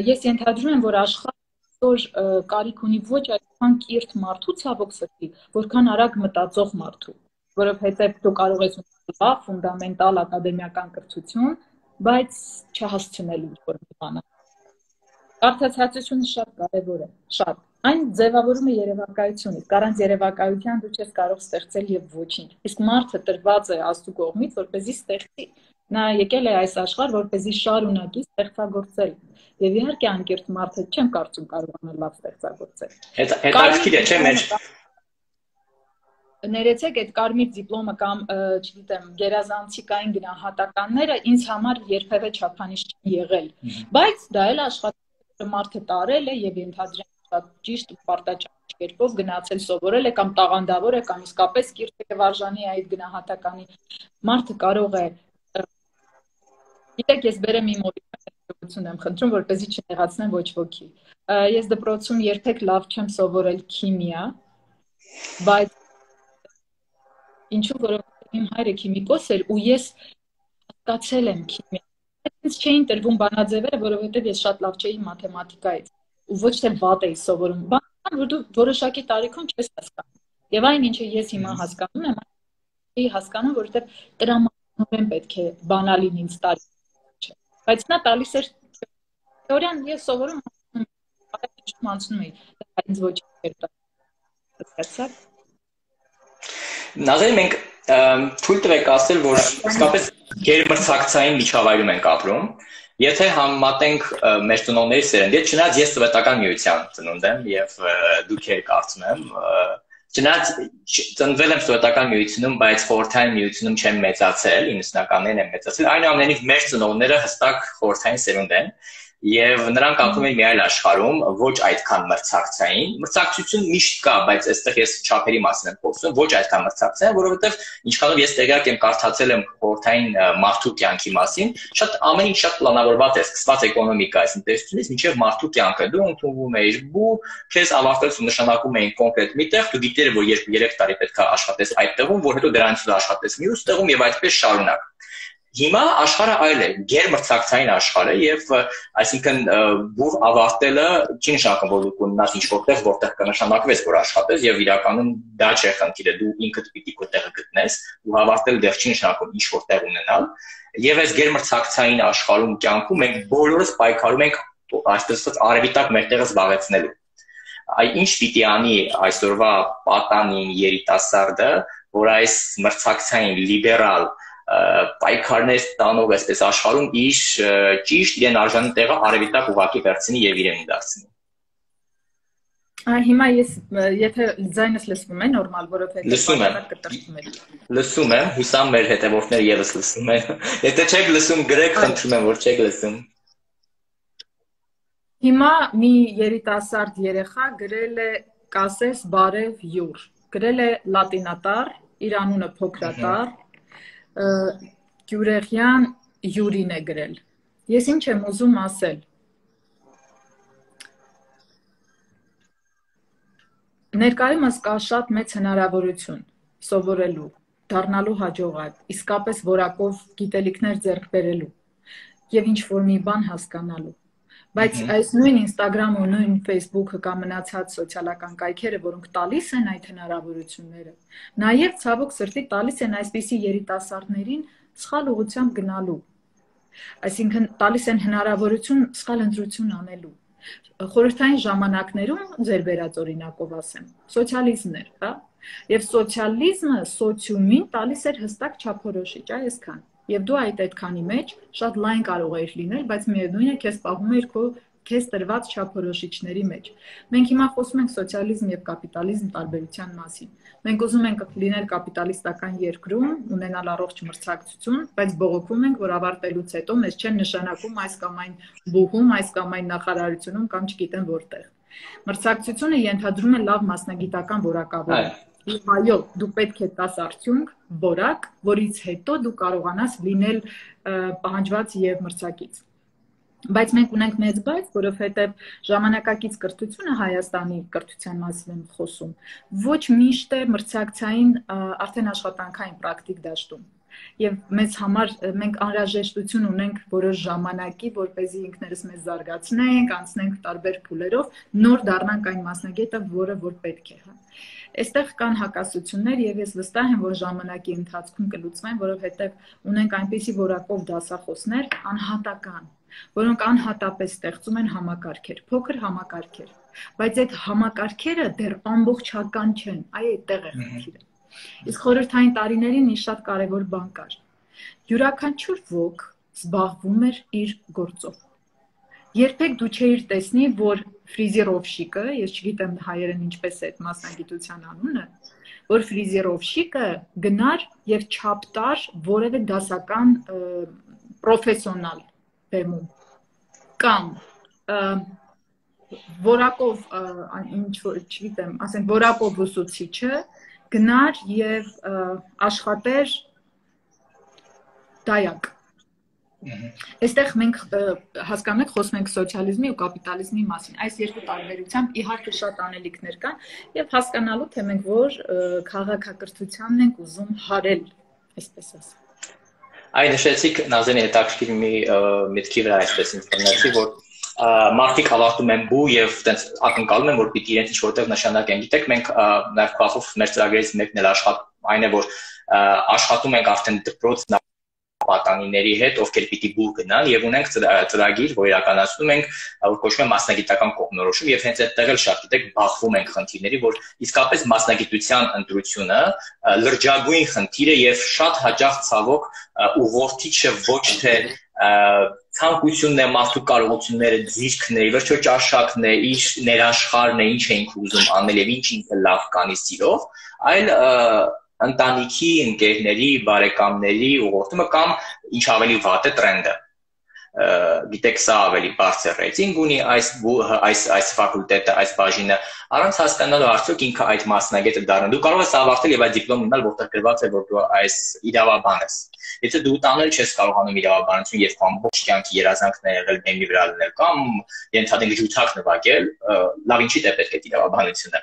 ես ենթադրում եմ, որ աշխարհը կարիք ունի ոչ այդքան կիրթ մարդու ցավոք սրտի, որքան արագ մտածող մարդու, որովհետև դու կարող ես ունենալ լավ, ֆունդամենտալ ակադեմիական կրթություն, բայց չհասցնելու ինչ-որ բանը։ Կարդացածությունը շատ կարևոր է, շատ։ Այն ձևավորում է երևակայությունից, առանց երևակայության դու չես կարող ստեղծել եւ ոչինչ։ Իսկ մարդը տրված է Աստծո կողմից, որպեսզի ստեղծի։ Նա եկել է այս աշխարհ, որպեսզի շարունակի ստեղծագործել։ Եվ իհարկե անկիրթ մարդը չեմ կարծում կարողանա լավ ստեղծագործել։ Հետաքրքիր է, չէ՞ մեր Ներեցեք այդ կարմիր դիպլոմը կամ, չգիտեմ, գերազանցիկային գնահատականները ինձ համար երբևէ չափանիշ չեն եղել, բայց դա էլ աշխատանքը մարդը տարել է եւ ենթադրենք շատ ճիշտ ու պարտաճաշ կերպով գնացել սովորել է կամ տաղանդավոր է կամ իսկապես կիրթ է վարժանի այդ գնահատականի։ Մարդը կարող է, գիտեք, ես բերեմ իմ օրինակ եմ խնդրում, որպեսզի չնեղացնեմ ոչ ոքի։ Ես դպրոցում երբեք լավ չեմ սովորել քիմիա, բայց ինչու, որովհետև իմ հայրը քիմիկոս էր ու ես հասկացել եմ քիմիա։ Ինձ չէին տրվում բանաձևերը, որովհետև ես շատ լավ չէի մաթեմատիկայից ու ոչ թե վատ էի սովորում։ Բան, որ դու որոշակի տարիքում չես հասկանում։ Եւ այն, ինչը ես հիմա հասկանում եմ, այն հասկանում, որովհետև տրամաբանորեն պետք է բանալին ինձ տալի։ Բայց նա տալիս էր թեորիան, ես սովորում եմ, անցնում էի, ինձ ոչ էր տալիս։ Նազարի, մենք թույլ տվեք ասել, որ իսկապես գերմրցակցային միջավայրում ենք ապրում։ Եթե համեմատենք մեր ծնողների սերնդի, չնայած ես սովետական միության ծնունդ եմ եւ դուք եք կարծում եմ, չնայած ծնվել եմ սովետական միությունում, բայց խորհրդային միությունում չեմ մեծացել, ինքնականորեն եմ մեծացել, այնուամենայնիվ մեր ծնողները հստակ խորհրդային սերունդ են եւ նրանք ապրում են մի այլ աշխարհում, ոչ այդքան մրցակցային։ Մրցակցություն միշտ կա, բայց այստեղ ես չափերի մասին եմ խոսում, ոչ այդքան մրցակցային, որովհետեւ ինչքանով ես տեղյակ եմ, կարդացել եմ խորհրդային մարդու կյանքի մասին, շատ ամեն ինչ շատ պլանավորված է, սկսված էկոնոմիկայից, տնտեսությունից մինչեւ մարդու կյանքը։ Դու ընդունվում ես, ու քեզ ավարտելուց նշանակում էին կոնկրետ մի տեղ, դու գիտեր, որ երբ երեք տարի պետք է աշխատես այդ տեղում, որ հետո դրանից ու աշխատես մյուս տեղում եւ այդպես շարունակ։ Հիմա աշխարհը այլ է, գերմրցակցային աշխարհ է եւ այսինքն բուր ավարտելը չի նշանակում, որ դու կունենաս ինչ-որ տեղ, որտեղ կնշանակվես, որ աշխատես եւ իրականում դա չէ խնդիրը, դու ինքդ պիտի քո տեղը գտնես, ու ավարտել դեռ չի նշանակում ինչ-որ տեղ ունենալ։ Եվ այս գերմրցակցային աշխարհում կյանքում մենք բոլորս պայքարում ենք այսպես ասած արևիտակ մեր տեղը զբաղեցնելու։ Այ ինչ պիտի անի այսօրվա պատանին երիտասարդը, որ այս մրցակցային լիբերալ պայքարներ տանող այսպես աշխարհում իր ճիշտ իրեն արժանի տեղը արևիտակ ուղղակի վերցնի եւ իրեն դարձնի։ Հիմա ես եթե ձայնս լսվում է նորմալ, որովհետեւ լսում եմ, լսում եմ, հուսամ մեր հետևորդները եւս լսում են։ Եթե չեք լսում, գրեք, խնդրում եմ, որ չեք լսում։ Հիմա մի երիտասարդ երեխա գրել է կասես բարև յուր, գրել է լատինատառ, իր անունը փոքրատառ, Գյուրեղյան Յուրին է գրել։ Ես ինչ եմ ուզում ասել։ Ներկայումս կա շատ մեծ հնարավորություն սովորելու, դառնալու հաջողակ, իսկապես որակով գիտելիքներ ձեռք բերելու եւ ինչ-որ մի բան հասկանալու։ Բայց այս նույն Instagram ու նույն Facebook-ը կամ մնացած սոցիալական կայքերը, որոնք տալիս են այդ հնարավորությունները, նաեւ ցավոք սրտի տալիս են այսպիսի երիտասարդներին սխալ ուղղությամբ գնալու։ Այսինքն տալիս են հնարավորություն սխալ ընտրություն անելու։ Խորհրդային ժամանակներում ձեր վերած օրինակով ասեմ, սոցիալիզմն էր, հա? Եվ սոցիալիզմը սոցիումին տալիս էր հստակ չափորոշիչ, այսքան։ Եվ դու այդ այդքանի մեջ շատ լայն կարող էիր լինել, բայց միևնույն է քեզ պահում էր քո քեզ տրված չափորոշիչների մեջ։ Մենք հիմա խոսում ենք սոցիալիզմ եւ կապիտալիզմ տարբերության մասին։ Մենք ուզում ենք լինել կապիտալիստական երկրում, ունենալ առողջ մրցակցություն, բայց բողոքում ենք, որ ավարտելուց հետո մեզ չեն նշանակում այս կամ այն բուհում, այս կամ այն նախարարությունում կամ չգիտեմ որտեղ։ Մրցակցությունը ենթադրում է լավ մասնագիտական որակավորում։ Եվ այո, դու պետք է տաս արդյունք, որակ, որից հետո դու կարողանաս լինել պահանջված եւ մրցակից։ Բայց մենք ունենք մեծ բայց, որովհետեւ ժամանակակից կրթությունը Հայաստանի կրթության մասին եմ խոսում, ոչ միշտ է մրցակցային արդեն աշխատանքային պրակտիկ դաշտում։ Եվ մեզ համար մենք անհրաժեշտություն ունենք որոշ ժամանակի, որպեսզի ինքներս մեզ զարգացնենք, անցնենք տարբեր փուլերով, նոր դառնանք այն մասնագետը, որը որ պետք է, հա։ Այստեղ կան հակասություններ եւ ես վստահ եմ, որ ժամանակի ընթացքում կլուծվեն, որովհետեւ ունենք այնպիսի որակով դասախոսներ անհատական, որոնք անհատապես ստեղծում են համակարգեր, փոքր համակարգեր, բայց այդ համակարգերը դեռ ամբողջական չեն, այ այդտեղ է խնդիրը։ Իսկ խորհրդային տարիներին մի շատ կարևոր բան կար։ Յուրաքանչյուր ոք զբաղվում էր իր գործով։ Երբեք դու չէիր տեսնի, որ ֆրիզերովշիկը, ես չգիտեմ հայերեն ինչպես է այդ մասնագիտության անունը, որ ֆրիզերովշիկը գնար եւ չափ տար որևէ դասական պրոֆեսիոնալ բեմում կամ որակով ինչ որ չգիտեմ, ասենք որակով ուսուցիչը գնար եւ աշխատեր դայակ։ Այստեղ մենք հասկանում ենք, խոսում ենք սոցիալիզմի ու կապիտալիզմի մասին։ Այս երկու տարբերությամբ իհարկե շատ անելիքներ կան եւ հասկանալու թե մենք որ քաղաքակրթությանն ենք ուզում հարել, այսպես ասեմ։ Այ նշեցիք Նազենի հետաքրքիր մի միտքի վրա այսպես ինֆորմացիա, որ մարդիկ հավատում են բու եւ տենց ակնկալում են, որ պիտի իրենց ինչ որտեղ նշանակ են։ Գիտեք, մենք նաեւ քախով մեր ծրագրերից մեկն էլ աշխատ այն է, որ աշխատում ենք արդեն դպրոց պատանիների հետ, ովքեր պիտի բուր գնան եւ ունենք ծրագիր, որ իրականացնում ենք, որ կոչվում է մասնագիտական կողմնորոշում եւ հենց այդտեղ էլ շատ գիտեք բախվում ենք խնդիրների, որ իսկապես մասնագիտության ընտրությունը լրջագույն խնդիր է եւ շատ հաճախ ցավոք ուղղորդիչը ոչ թե ցանկությունն է, մարդու կարողությունները, ձիրքն է, վերջո ճաշակն է, իր ներաշխարհն է, ինչ էինք ուզում անել եւ ինչ ինքը լավ կանի սիրով, այլ ընտանիքի, ընկերների, բարեկամների ուղղորդումը կամ ինչ ավելի վատ է տրենդը։ Գիտեք, սա ավելի բարձր ռեյտինգ ունի այս այս այս ֆակուլտետը, այս բաժինը, առանց հասկանալու արդյոք ինքը այդ մասնագետը դառնա։ Դու կարող ես ավարտել եւ այդ դիպլոմ ունենալ, որտեղ գրված է, որ դու այս իրավաբան ես։ Եթե դու տանել չես կարողանում իրավաբանություն եւ քո ամբողջ կյանքի երազանքն է եղել բեմի վրա լինել կամ ենթադրենք ջութակ նվագել, լավ ինչի՞ է պետք է իրավաբանությունը։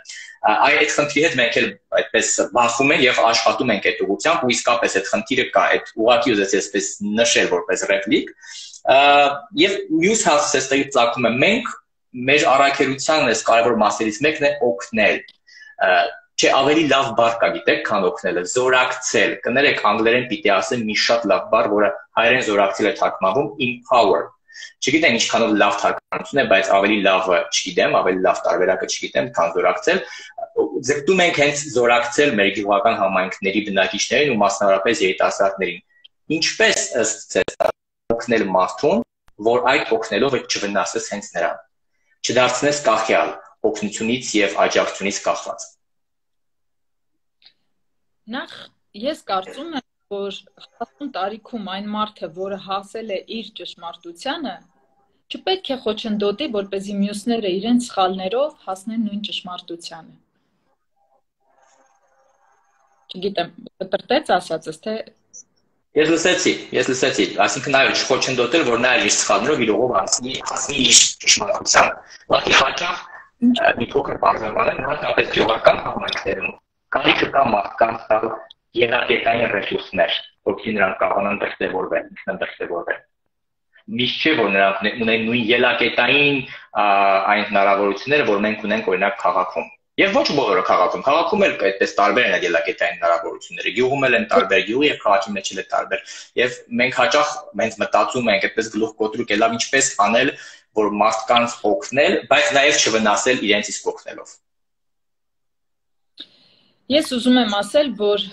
Այդ խնդրի հետ մենք էլ այդպես բախվում ենք եւ աշխատում ենք այդ ուղղությամբ ու իսկապես այդ խնդիրը կա, այդ ուղղակի ուզես այսպես նշել որպես ռեպլիկ։ Եվ մյուս հարցը ստեղից ծագում է, մենք մեր առաքելության այս կարևոր մասերից մեկն է օգնել։ Չէ, ավելի լավ բառ կա, գիտեք, քան օգնելը, զորակցել։ Կներեք, անգլերեն պիտի ասեմ մի շատ լավ բառ, որը հայերեն զորակցել է թարգմանվում empower։ Չգիտեմ ինչքանով լավ թարգմանություն է, բայց ավելի լավը չգիտեմ, ավելի լավ տարբերակը չգիտեմ, քան զորակցել։ Ձգտում ենք հենց զորակցել մեր գյուղական համայնքների բնակիչներին ու մասնավորապես երիտասարդներին։ Ինչպես ըստ ձեզ օգնել մարդուն, որ այդ օգնելով չվնասես հենց նրան, չդարձնես կախյալ, օգնությունից եւ աջակցությունից կախված։ Նախ ես կարծում եմ, որ հասուն տարիքում այն մարդը, որը հասել է իր ճշմարտությանը, չպետք է խոչընդոտի, որպեսզի մյուսները իրենց սխալներով հասնեն նույն ճշմարտությանը։ Չգիտեմ, կտրտեց ասածս, թե Ես լսեցի, ես լսեցի, այսինքն այո, չխոչընդոտել, որ նա իր սխալներով իր ուղով հասնի, հասնի իր ճշմարտությանը։ Բայց հաճախ մի փոքր բարձրացնել հատկապես գյուղական համայնքներում կարիքը կա մարդկանց տալ ելակետային ռեսուրսներ, որովհետեւ նրանք կարողանան դրսևորվել, ինքնադրսևորվել։ Միշտ չէ, որ նրանք ունեն նույն ելակետային այն հնարավորությունները, որ մենք ունենք օրինակ քաղաքում։ Եվ ոչ բոլորը քաղաքում, քաղաքում էլ այդպես տարբեր են ելակետային հնարավորությունները, գյուղում էլ են տարբեր, գյուղի եւ քաղաքի մեջ էլ է տարբեր։ Եվ մենք հաճախ մենք մտածում ենք այդպես գլուխ կոտրուկ ելավ ինչպես անել, որ մարդկանց օգնել, բայց նաեւ չվնասել իրենց իսկ օգնելով։ Ես ուզում եմ ասել, որ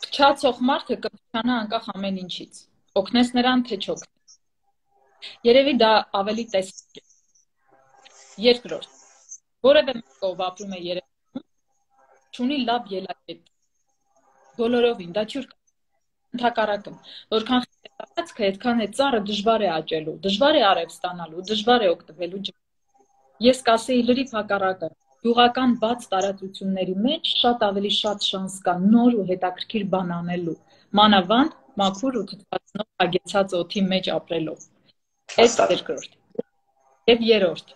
փչացող մարդը կփչանա անկախ ամեն ինչից։ Օգնես նրան, թե չօգնես։ Երևի դա ավելի տեսակ է։ Երկրորդ, որևէ մեկը ով ապրում է Երևանում, չունի լավ ելակետ։ Բոլորովին, դա չուր ընդհակառակը, որքան խելացքը, այդքան է ծառը դժվար է աճելու, դժվար է արև ստանալու, դժվար է օգտվելու։ Ես կասեի լրիվ հակառակը, գյուղական բաց տարածությունների մեջ շատ ավելի շատ շանս կա նոր ու հետաքրքիր բան անելու, մանավանդ մաքուր ու թթվածնով հագեցած օդի մեջ ապրելով։ Այս երկրորդ։ Եվ երրորդ։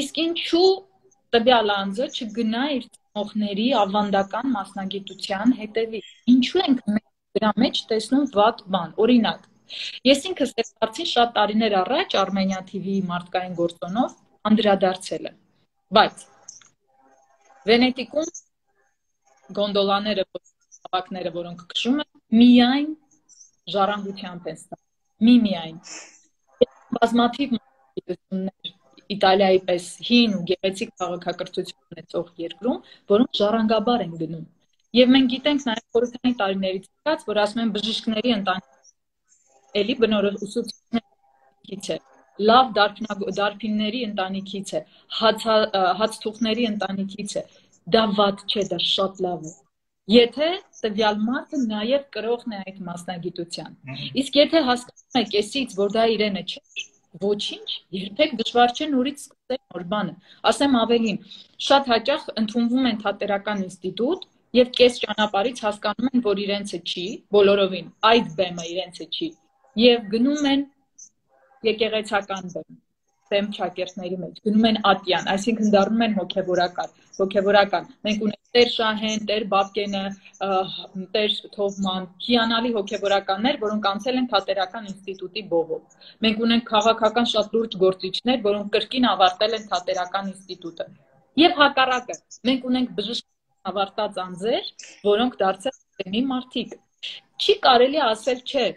Իսկ ինչու տվյալ անձը չգնա իր ծնողների ավանդական մասնագիտության հետևի։ Ինչու ենք մենք դրա մեջ տեսնում վատ բան։ Օրինակ, ես ինքս այս հարցին շատ տարիներ առաջ Armenia T V-ի մարդկային գործոնով անդրադարձել եմ։ Բայց Վենետիկում գոնդոլաները, ավակները, որոնք քշում են, միայն ժառանգությամբ են ստանում։ Մի-միայն։ Բազմաթիվ մասնագիտություններ Իտալիայի պես հին ու գեղեցիկ քաղաքակրթություն ունեցող երկրում, որոնք ժառանգաբար են գնում։ Եվ մենք գիտենք նաև խորհրդային տարիներից սկսած, որ ասում են բժիշկների ընտանիքի էլի բնորոշ ուսուցիչներից է, լավ դարբինների ընտանիքից է, հացթուխների ընտանիքից է։ Դա վատ չէ, դա շատ լավ է։ Եթե տվյալ մարդը նաև կրողն է այդ մասնագիտության։ Իսկ եթե հասկանում եք էսից, որ դա իրենը չէ, ոչինչ, երբեք դժվար չէ նորից սկսել նոր բանը։ Ասեմ ավելին, շատ հաճախ ընդունվում են թատերական ինստիտուտ եւ կես ճանապարհից հասկանում են, որ իրենցը չի, բոլորովին այդ բեմը իրենցը չի, եւ գնում են եկեղեցական բեմ, բեմ շակերտների մեջ, գնում են ատյան, այսինքն դառնում են հոգեվորական, հոգեվորական։ Մենք ունենք Տեր Շահեն, Տեր Բաբկենը, Տեր Թովման, հիանալի հոգեվորականներ, որոնք անցել են թատերական ինստիտուտի բովով։ Մենք ունենք քաղաքական շատ լուրջ գործիչներ, որոնք կրկին ավարտել են թատերական ինստիտուտը։ Եվ հակառակը, մենք ունենք բժիշկ ավարտած անձեր, որոնք դարձել են մի մարդիկ։ Չի կարելի ասել չէ,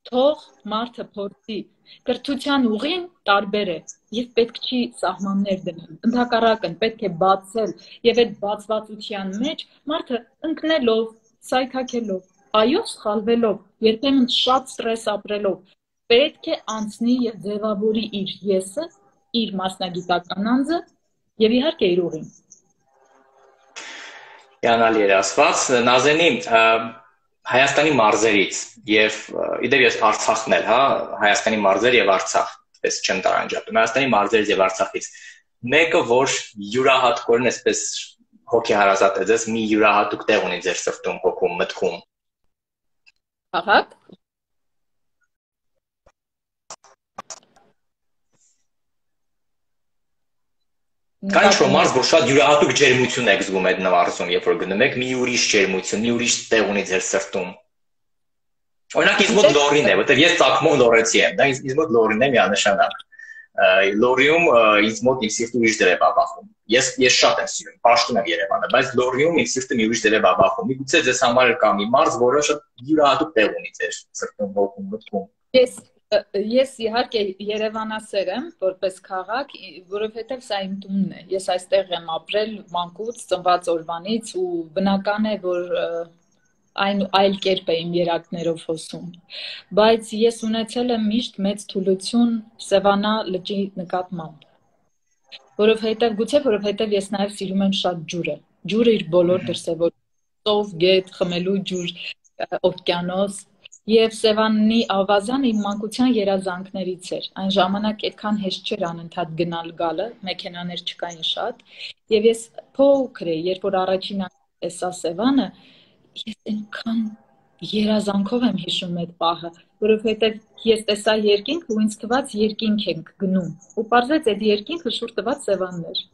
թող մարդը փորձի, կրթության ուղին տարբեր է եւ պետք չի սահմաններ դնել։ Ընդհակառակն պետք է բացել եւ այդ բացվածության մեջ մարդը ընկնելով, սայթաքելով, այո, սխալվելով, երբեմն շատ ստրես ապրելով, պետք է անցնի եւ ձևավորի իր եսը, իր մասնագիտական անձը եւ իհարկե իր ուղին։ Հիանալի էր ասված, Նազենի, Հայաստանի մարզերից եւ իդեպ ես Արցախն էլ, հա, Հայաստանի մարզեր եւ Արցախ, այսպես չեմ տարանջատում, Հայաստանի մարզերից եւ Արցախից մեկը, որ յուրահատկորեն այսպես հոգեհարազատ է ձեզ, մի յուրահատուկ տեղ ունի ձեր սրտում, հոգում, մտքում։ Քաղաք։ Կանչ մարզ, որ շատ յուրահատուկ ջերմություն եք զգում այդ նվարզում, երբ որ գնում եք, մի ուրիշ ջերմություն, մի ուրիշ տեղ ունի ձեր սրտում։ Օրինակ ինձ մոտ Լորին է, որտեղ ես Ծագմով լորեցի եմ, դա ինձ մոտ Լորին է միանշանակ։ Լորիում ինձ մոտ իմ սիրտը ուրիշ դեր է բաբախում։ Ես ես շատ եմ սիրում, պաշտում եմ Երևանը, բայց Լորիում իմ սիրտը մի ուրիշ դեր է բաբախում։ Միգուցե ձեզ համար կա մի մարզ, որը շատ յուրահատուկ տեղ ունի ձեր սրտում, հոգում, մտքում։ Ես Ես իհարկե Երևանասեր եմ, որպես քաղաք, որովհետև սա իմ տունն է։ Ես այստեղ եմ ապրել մանկուց, ծնված օրվանից ու բնական է, որ այն այլ կերպ է իմ երակներով հոսում։ Բայց ես ունեցել եմ միշտ մեծ թուլություն Սևանա լճի նկատմամբ։ Որովհետև գուցե որովհետև ես նաև սիրում եմ շատ ջուրը։ Ջուրը իր բոլոր դրսևորումներով, ծով, գետ, խմելու ջուր, օվկիանոս։ Եվ Սևանի ավազանը իմ մանկության երազանքներից էր։ Այն ժամանակ այդքան հեշտ չէր անընդհատ գնալ գալը, մեքենաներ չկային շատ, եւ ես փոքր էի, երբ որ առաջին անգամ տեսա Սևանը, ես այնքան երազանքով եմ հիշում այդ պահը, որովհետեւ ես տեսա երկինք ու ինձ թվաց երկինք ենք գնում։ Ու պարզեց այդ երկինքը շուտ տված Սևանն էր։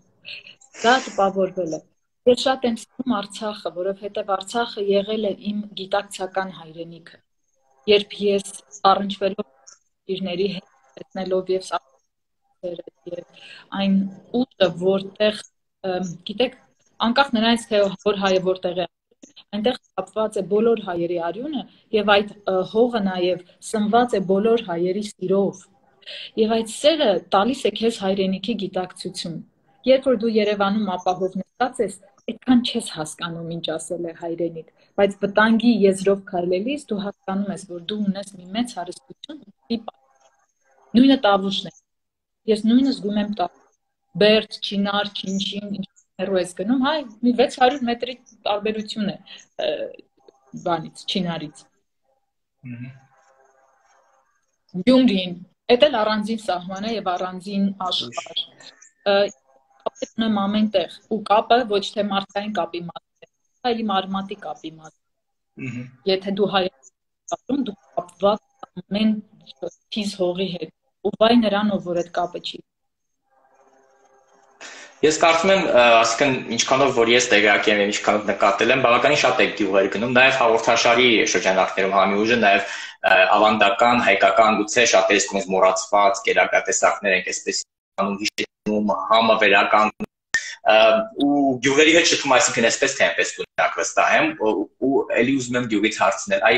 Դա տպավորվել է։ Ես շատ եմ սիրում Արցախը, որովհետեւ Արցախը եղել է իմ գիտակցական հայրենիքը։ Երբ ես առնչվելով իրների հետ տեսնելով եւ սաղերը եւ այն ուտը, որտեղ գիտեք, անկախ նրանից թե որ հայը որտեղ է, այնտեղ կապված է բոլոր հայերի արյունը եւ այդ հողը նաեւ սնված է բոլոր հայերի սիրով։ Եվ այդ սերը տալիս է քեզ հայրենիքի գիտակցություն։ Երբ որ դու Երևանում ապահով նստած ես, այդքան չես հասկանում ինչ ասել է հայրենիք, բայց վտանգի եզրով քայլելիս դու հասկանում ես, որ դու ունես մի մեծ հարստություն, նույնը Տավուշն է։ Ես նույնը զգում եմ տա։ Բերդ, Չինար, Չինչին, ինչ հեռու ես գնում, հայ, մի վեց հարյուր մետրի տարբերություն է բանից, Չինարից։ Գյումրին, էդ էլ առանձին սահման է եւ առանձին աշխարհ։ Կապ ունեմ ամենտեղ, ու կապը ոչ թե մարդկային կապի մաս է, այլ իմ արմատի կապի մաս։ Եթե դու հայ ես, դու կապված ամեն թիզ հողի հետ, ու վայ նրանով, որ այդ կապը չի։ Ես կարծում եմ, ասիկան ինչքանով որ ես տեղյակ եմ, ինչքանով նկատել եմ, բավականին շատ եք գյուղեր գնում, նաև հաղորդաշարի շրջանակներում Համի ուժը, նաև ավանդական, հայկական, գուցե շատերս կողմից մոռացված գերակատեսակներ ենք այսպես անում, հիշում, համը վերականգնում ու գյուղերի հետ շփում, այսինքն այսպես թե այնպես կունակ վստահ եմ, ու էլի ուզում եմ գյուղից հարցնել, այ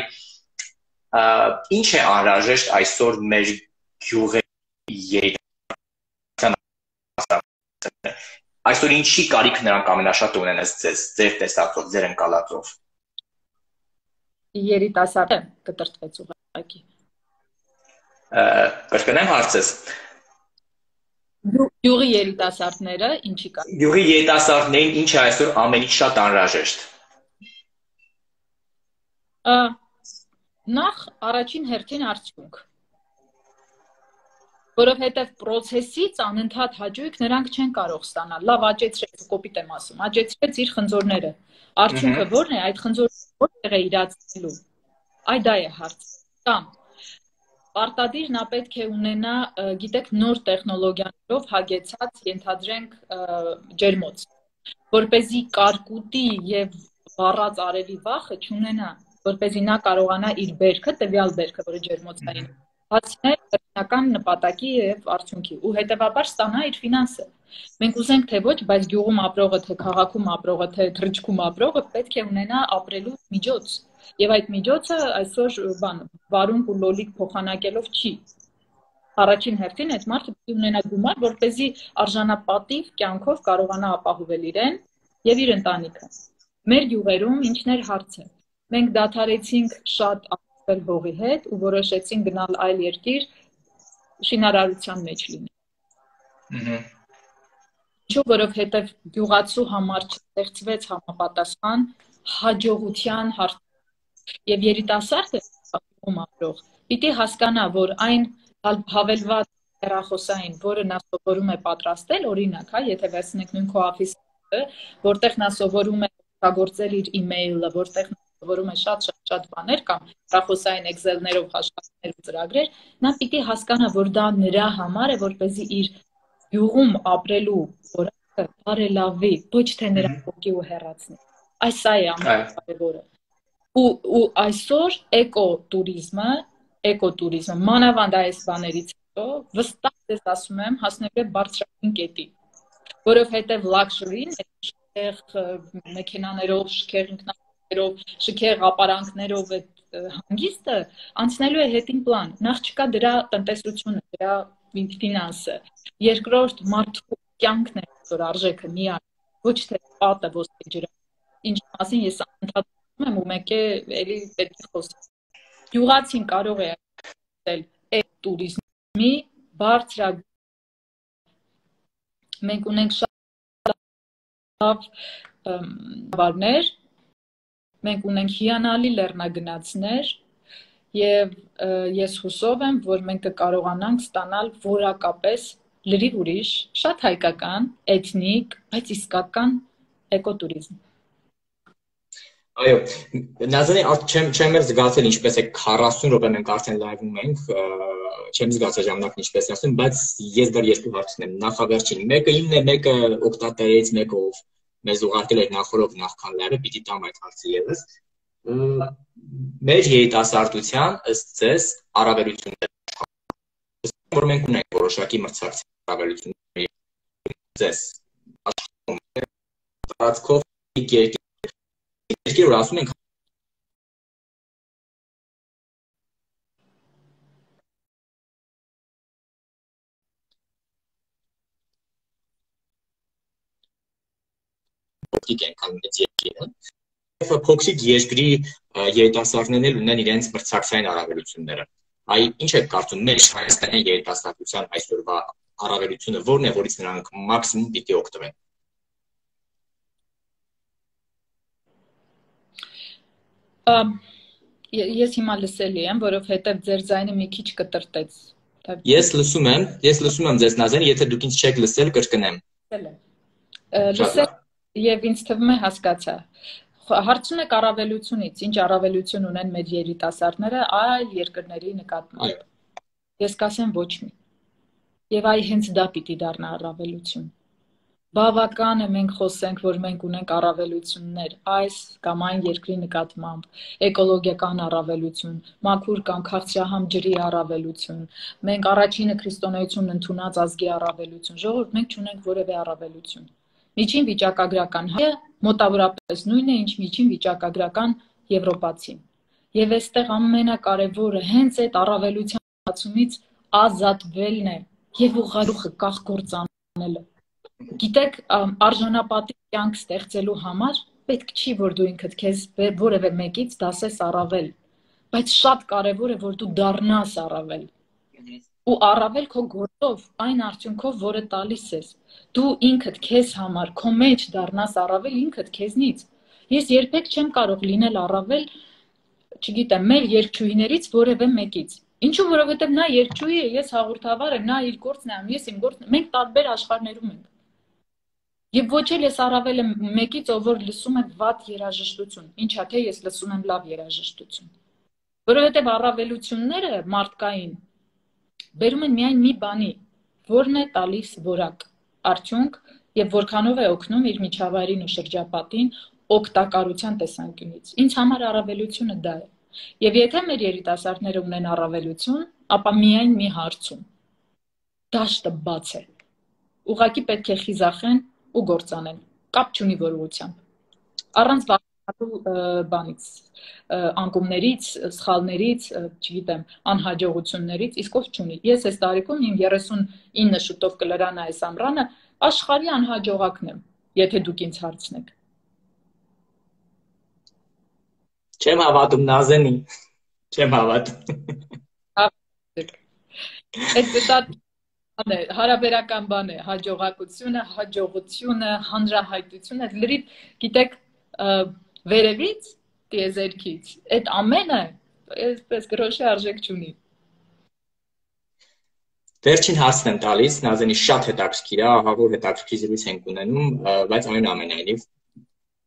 ինչ է անհրաժեշտ այսօր մեր գյուղերի երիտասարդության այսօր ինչի կարիք նրանք ամենաշատը ունեն ձեզ, ձեր տեսածով, ձեր ընկալածով։ Երիտասարդը կտրտվեց ուղղակի։ Կրկնեմ հարցս։ Գյուղի երիտասարդները ինչի կարիք։ Գյուղի երիտասարդներին ինչ է այսօր ամենից շատ անհրաժեշտ։ Նախ առաջին հերթին արդյունք։ Որովհետև process-ից անընդհատ հաճույք նրանք չեն կարող ստանալ։ Լավ աճեցրեց, կոպիտ եմ ասում, աճեցրեց իր խնձորները։ Արդյունքը ո՞րն է, այդ խնձորները որտեղ է իրացնելու։ Այ դա է հարցը։ Կամ պարտադիր նա պետք է ունենա, գիտեք, նոր տեխնոլոգիաներով հագեցած, ենթադրենք, ջերմոց, որպեսզի կարկուտի եւ վառած արևի վախը չունենա, որպեսզի նա կարողանա իր բերքը, տվյալ բերքը, որը ջերմոցային հասնել վերջնական նպատակի եւ արդյունքի ու հետեւաբար ստանա իր ֆինանսը։ Մենք ուզենք թե ոչ, բայց գյուղում ապրողը, թե քաղաքում ապրողը, թե թռիչքում ապրողը պետք է ունենա ապրելու միջոց։ Եվ այդ միջոցը այսօր բան վարունգ ու լոլիկ փոխանակելով չի։ Առաջին հերթին այդ մարդը պետք է ունենա գումար, որպեսզի արժանապատիվ կյանքով կարողանա ապահովել իրեն եւ իր ընտանիքը։ Մեր գյուղերում ինչն էր հարցը։ Մենք դադարեցինք շատ հողի հետ ու որոշեցին գնալ այլ երկիր շինարարության մեջ լինել։ Ինչու, որովհետև գյուղացու համար չստեղծվեց համապատասխան հաջողության հարց եւ երիտասարդը գյուղում ապրող պիտի հասկանա, որ այն հավելված հեռախոսային, որը նա սովորում է պատրաստել, օրինակ, հա, եթե վերցնենք նույն քո օֆիսը, որտեղ նա սովորում է օգտագործել իր email-ը, որտեղ որում է շատ-շատ բաներ կամ հեռախոսային Excel-ներով աշխատանքներ ու ծրագրեր, նա պիտի հասկանա, որ դա նրա համար է, որպեսզի իր գյուղում ապրելու որակը բարելավի, ոչ թե նրա ոգի ու հեռացնի։ Այս սա է ամենակարևորը։ Ու ու այսօր էկոտուրիզմը, էկոտուրիզմը մանավանդ այս բաներից հետո վստահ ես ասում եմ հասնելու է բարձրագույն կետի, որովհետև luxury-ն այդտեղ մեքենաներով, շքեղ ինքնաթիռով, շքեղ ապարանքներով այդ հանգիստը անցնելու է հետին պլան։ Նախ չկա դրա տնտեսությունը, դրա ֆինանսը։ Երկրորդ մարդու կյանքն է, որ արժեքը միակ, ոչ թե պատը ոսկե ջրը։ Ինչ մասին ես անդադար եմ ու մեկ է էլի պետք է խոսել։ Գյուղացին կարող է ասել այդ տուրիզմի բարձրագույն։ Մենք ունենք շատ լավ բարներ, մենք ունենք հիանալի լեռնագնացներ եւ ես հուսով եմ, որ մենք կկարողանանք ստանալ որակապես լրիվ ուրիշ, շատ հայկական, էթնիկ, բայց իսկական էկոտուրիզմ։ Այո, Նազանի, չեմ չեմ էլ զգացել ինչպես է քառասուն րոպե մենք արդեն լայվում ենք, չեմ զգացել ժամանակն ինչպես է ասում, բայց ես դեռ երկու հարց ունեմ։ Նախավերջին մեկը իմն է, մեկը օգտատերից մեկը ով մեզ ուղարկել էր նախորդ նախքան լայվը, պիտի տամ այդ հարցը եւս։ Մեր երիտասարդության ըստ ձեզ առավելությունները, որ մենք ունենք որոշակի մրցակցային առավելություններ ձեզ աշխատում տարածքով երկիր որ ասում ենք փոքրիկ են քան մեծ երկիրը, փոքրիկ երկրի երիտասարդներն էլ ունեն իրենց մրցակցային առավելությունները։ Այ ինչ եք կարծում մեր Հայաստանի երիտասարդության այսօրվա առավելությունը ո՞րն է, որից նրանք մաքսիմում պիտի օգտվեն։ Ես հիմա լսելի եմ, որովհետև ձեր ձայնը մի քիչ կտրտեց։ Ես լսում եմ, ես լսում եմ ձեզ Նազանի, եթե դուք ինձ չեք լսել, կրկնեմ։ Լսել եւ ինձ թվում է հասկացա։ Հարցում եք առավելությունից, ինչ առավելություն ունեն մեր երիտասարդները այլ երկրների նկատմամբ։ Ես կասեմ ոչ մի։ Եվ այ հենց դա պիտի դառնա առավելություն։ Բավական է մենք խոսենք, որ մենք ունենք առավելություններ այս կամ այն երկրի նկատմամբ, էկոլոգիական առավելություն, մաքուր կամ քաղցրահամ ջրի առավելություն, մենք առաջինը քրիստոնեություն ընդունած ազգի առավելություն, ժողովուրդ մենք չունենք որևէ առավելություն։ Միջին վիճակագրական հայը մոտավորապես նույնն է, ինչ միջին վիճակագրական եվրոպացին։ Եվ այստեղ ամենակարևորը հենց այդ առավելության բացումից ազատվելն է եւ ուղղարուխը կախ գործանելը։ Գիտեք, արժանապատիվ կյանք ստեղծելու համար պետք չի, որ դու ինքդ քեզ որևէ մեկից դասես առավել, բայց շատ կարևոր է, որ դու դառնաս առավել։ Ու առավել քո գործով, այն արդյունքով, որը տալիս ես։ Դու ինքդ քեզ համար, քո մեջ դառնաս առավել ինքդ քեզնից։ Ես երբեք չեմ կարող լինել առավել, չգիտեմ, մեր երգչուհիներից որևէ մեկից։ Ինչու, որովհետև նա երգչուհի է, ես հաղորդավար եմ, նա իր գործն է անում, ես իմ գործն եմ, մենք տարբեր աշխարհներում ենք։ Եվ ոչ էլ ես առավել եմ մեկից, ով որ լսում է վատ երաժշտություն, ինչա թե ես լսում եմ լավ երաժշտություն։ Որովհետև առավելությունները մարդկային բերում են միայն մի բանի, որն է տալիս որակ, արդյունք եւ որքանով է օգնում իր միջավայրին ու շրջապատին օգտակարության տեսանկյունից։ Ինձ համար առավելությունը դա է։ Եվ եթե մեր երիտասարդները ունեն առավելություն, ապա միայն մի հարցում։ Դաշտը բաց է։ Ուղղակի պետք է խիզախեն ու գործանեն, կապ չունի որ ուղղությամբ։ Առանց վախենալու բանից, անկումներից, սխալներից, չգիտեմ, անհաջողություններից, իսկ ով չունի։ Ես այս տարիքում իմ երեսունինը շուտով կլրանա այս ամռանը, աշխարհի անհաջողակն եմ, եթե դուք ինձ հարցնեք։ Չեմ հավատում Նազանի, չեմ հավատում։ Այդ շատ հարաբերական բան է, հաջողակությունը, հաջողությունը, հանրահայտությունը, լրիվ, գիտեք, վերևից, տիեզերքից, այդ ամենը, այսպես գրոշի արժեք չունի։ Վերջին հարցն եմ տալիս, Նազանի շատ հետաքրքիր է, ահա որ հետաքրքիր զրույց ենք ունենում, բայց այնուամենայնիվ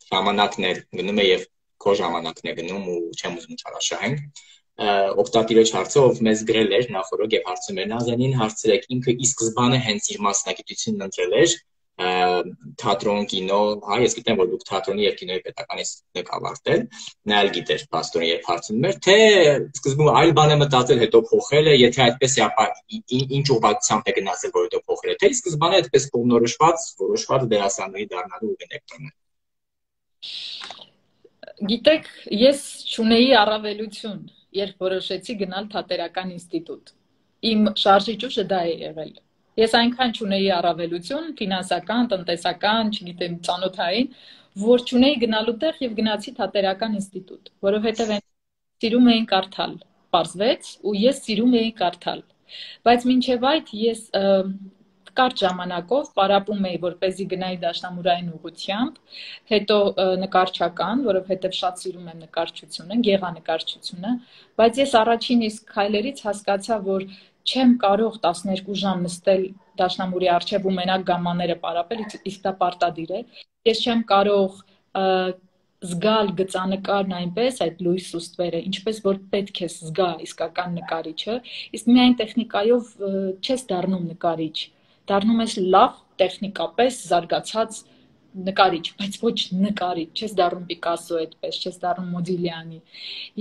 ժամանակներ գնում է եւ քո ժամանակն է գնում ու չեմ ուզում չարաշահենք։ Օգտատիրոջ հարցը, ով մեզ գրել էր նախորդ եւ հարցում էր Նազանին, հարցրեք ինքը ի սկզբանե հենց իր մասնագիտությունն ընտրել էր թատրոն, կինո, հա, ես գիտեմ, որ դուք թատրոնի եւ կինոյի պետական ինստիտուտ եք ավարտել, նա էլ գիտեր պաստորին երբ հարցնում էր, թե սկզբում այլ բան է մտածել, հետո փոխել է, եթե այդպես է, ապա ինչ ուղղությամբ է գնացել, որ հետո փոխել է, թե ի սկզբանե այդպես կողմնորոշված, որոշված դերասանուհի դառնալու ուղին եք տանել։ Գիտեք, ես չունեի առավելություն, երբ որոշեցի գնալ թատերական ինստիտուտ։ Իմ շարժիչ ուժը դա է եղել։ Ես այնքան չունեի առավելություն, ֆինանսական, տնտեսական, չգիտեմ, ծանոթային, որ չունեի գնալու տեղ եւ գնացի թատերական ինստիտուտ, որովհետեւ սիրում էին կարդալ, պարզվեց, ու ես սիրում էի կարդալ։ Բայց մինչեւ այդ ես կարճ ժամանակով պարապում էի, որպեսզի գնայի դաշնամուրային ուղղությամբ, հետո նկարչական, որովհետև շատ սիրում եմ նկարչությունը, գեղանկարչությունը, բայց ես առաջին իսկ քայլերից հասկացա, որ չեմ կարող տասներկու ժամ նստել դաշնամուրի առջև ու մենակ գամմաները պարապել, իսկ դա պարտադիր է։ Ես չեմ կարող զգալ գծանկարն այնպես, այդ լույս ու ստվերը, ինչպես որ պետք է զգա իսկական նկարիչը, իսկ միայն տեխնիկայով չես դառնում նկարիչ, դառնում ես լավ տեխնիկապես զարգացած նկարիչ, բայց ոչ նկարիչ, չես դառնում Պիկասո այդպես, չես դառնում Մոդիլյանի։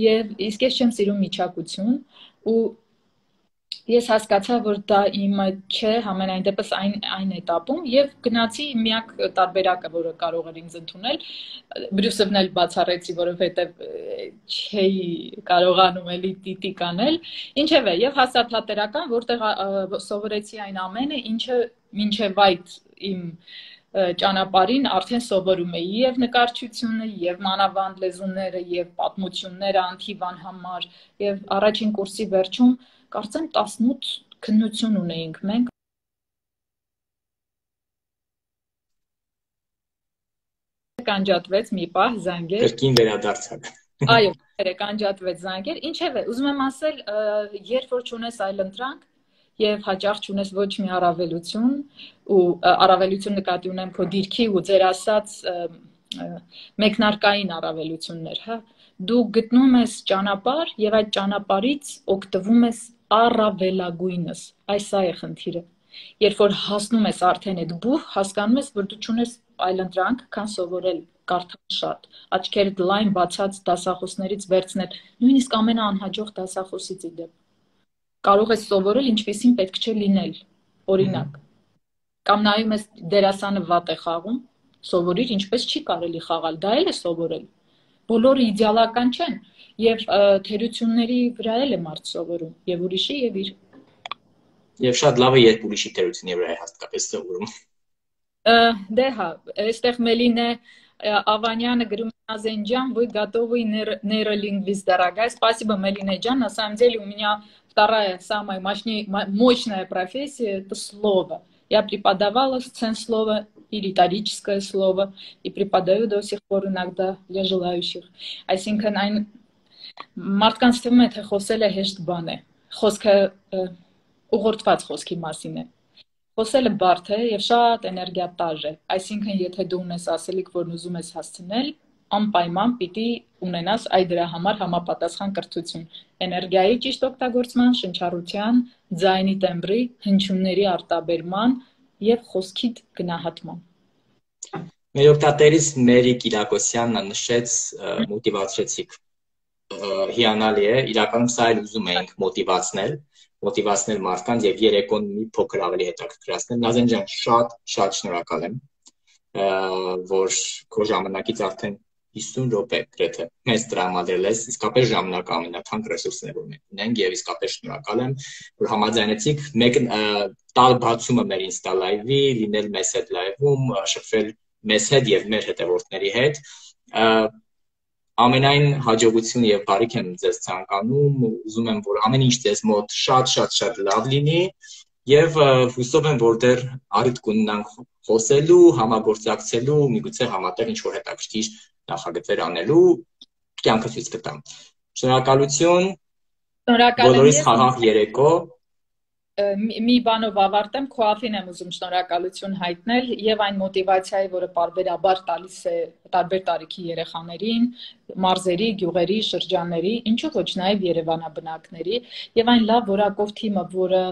Եվ իսկ ես չեմ սիրում միջակություն ու ես հասկացա, որ դա իմը չէ, համենայն դեպս այն այն этаպում եւ գնացի միակ տարբերակը, որը կարող էր ինձ ընդունել, Բրյուսովն էլ բացառեցի, որովհետեւ չէի կարողանում էլի տիտիկ անել, ինչևէ, եւ հասա թատերական, որտեղ սովորեցի այն ամենը, ինչը մինչեւ այդ իմ ճանապարհին արդեն սովորում էի եւ նկարչությունը, եւ մանավանդ լեզուները, եւ պատմությունները Անթիվան համար, եւ առաջին կուրսի վերջում կարծեմ տասնութ քննություն ունեինք մենք։ Կանջատվեց մի պահ զանգեր։ Կրկին վերադարձակ։ Այո, կանջատվեց զանգեր։ Ինչևէ, ուզում եմ ասել, երբ որ չունես այլ ընտրանք եւ հաճախ չունես ոչ մի առավելություն, ու առավելություն նկատի ունեմ քո դիրքի ու ձեր ասած մեկնարկային առավելություններ, հա, դու գտնում ես ճանապարհ եւ այդ ճանապարհից օգտվում ես առավելագույնս, այս սա է խնդիրը։ Երբ որ հասնում ես արդեն այդ բուհ, հասկանում ես, որ դու չունես այլ ընտրանք, քան սովորել, կարդալ շատ, աչքերդ լայն բացած դասախոսներից վերցնել, նույնիսկ ամենաանհաջող դասախոսից ի դեպ։ Կարող ես սովորել, ինչպեսին պետք չէ լինել, օրինակ։ Կամ նայում ես դերասանը վատ է խաղում, սովորիր, ինչպես չի կարելի խաղալ, դա էլ է սովորել։ Բոլորը իդեալական չեն, եւ թերությունների վրա էլ է մարդ սովորում, եւ ուրիշի եւ իր։ Եվ շատ լավ է, երբ ուրիշի թերությունների վրա է հատկապես սովորում։ Դե հա, այստեղ Մելինե Аваняна говорит, Азенджан, вы готовый нейролингвист, дорогая. Спасибо, Мелина Джан. На самом деле у меня вторая самая мощнее, мощная профессия – это слово. Я преподавала сценслово и риторическое слово, и преподаю до сих пор иногда для желающих. Այսինքն այն մարդկանց թվում է, թե խոսելը հեշտ բան է, խոսքը ուղղորդված խոսքի մասին է։ Խոսելը բարդ է եւ շատ էներգիատար է, այսինքն եթե դու ունես ասելիք, որն ուզում ես հասցնել, անպայման պիտի ունենաս այդ դրա համար համապատասխան կրթություն, էներգիայի ճիշտ օգտագործման, շնչառության, ձայնի տեմբրի, հնչյունների արտաբերման եւ խոսքի գնահատման։ Մեր օգտատերից Մերի Կիրակոսյանն նշեց մոտիվացրեցիք։ Հիանալի է, իրականում սա էլ ուզում էինք մոտիվացնել, մոտիվացնել մարդկանց եւ երեկոն մի փոքր ավելի հետաքրքրացնել։ Նազեն ջան, շատ շատ շնորհակալ եմ, որ քո ժամանակից արդեն հիսուն րոպե գրեթե մեզ տրամադրել ես, իսկապես ժամանակ ամենաթանկ ռեսուրսն է, որ մենք ունենք եւ իսկապես շնորհակալ եմ, որ համաձայնեցիք մեկ տալ բացումը մեր Insta Live-ի, լինել մեզ հետ live-ում, շփվել մեզ հետ եւ մեր հետևորդների հետ։ Ամենայն հաջողություն եւ բարիք եմ ձեզ ցանկանում, ուզում եմ, որ ամեն ինչ ձեզ մոտ շատ-շատ-շատ լավ լինի եւ հուսով եմ, որ դեռ առիթ կունենանք խոսելու, համագործակցելու, միգուցե համատեղ ինչ-որ հետաքրքիր նախագծեր անելու, կյանքը ցույց կտա։ Շնորհակալություն։ Շնորհակալ եմ։ Բոլորիս խաղաղ երեկո։ Մի բանով ավարտեմ, քոաֆին եմ ուզում շնորհակալություն հայտնել եւ այն մոտիվացիայի, որը պարբերաբար տալիս է տարբեր տարիքի երեխաներին, մարզերի, գյուղերի, շրջանների, ինչու ոչ նաեւ Երևանաբնակների եւ այն լավ որակով թիմը, որը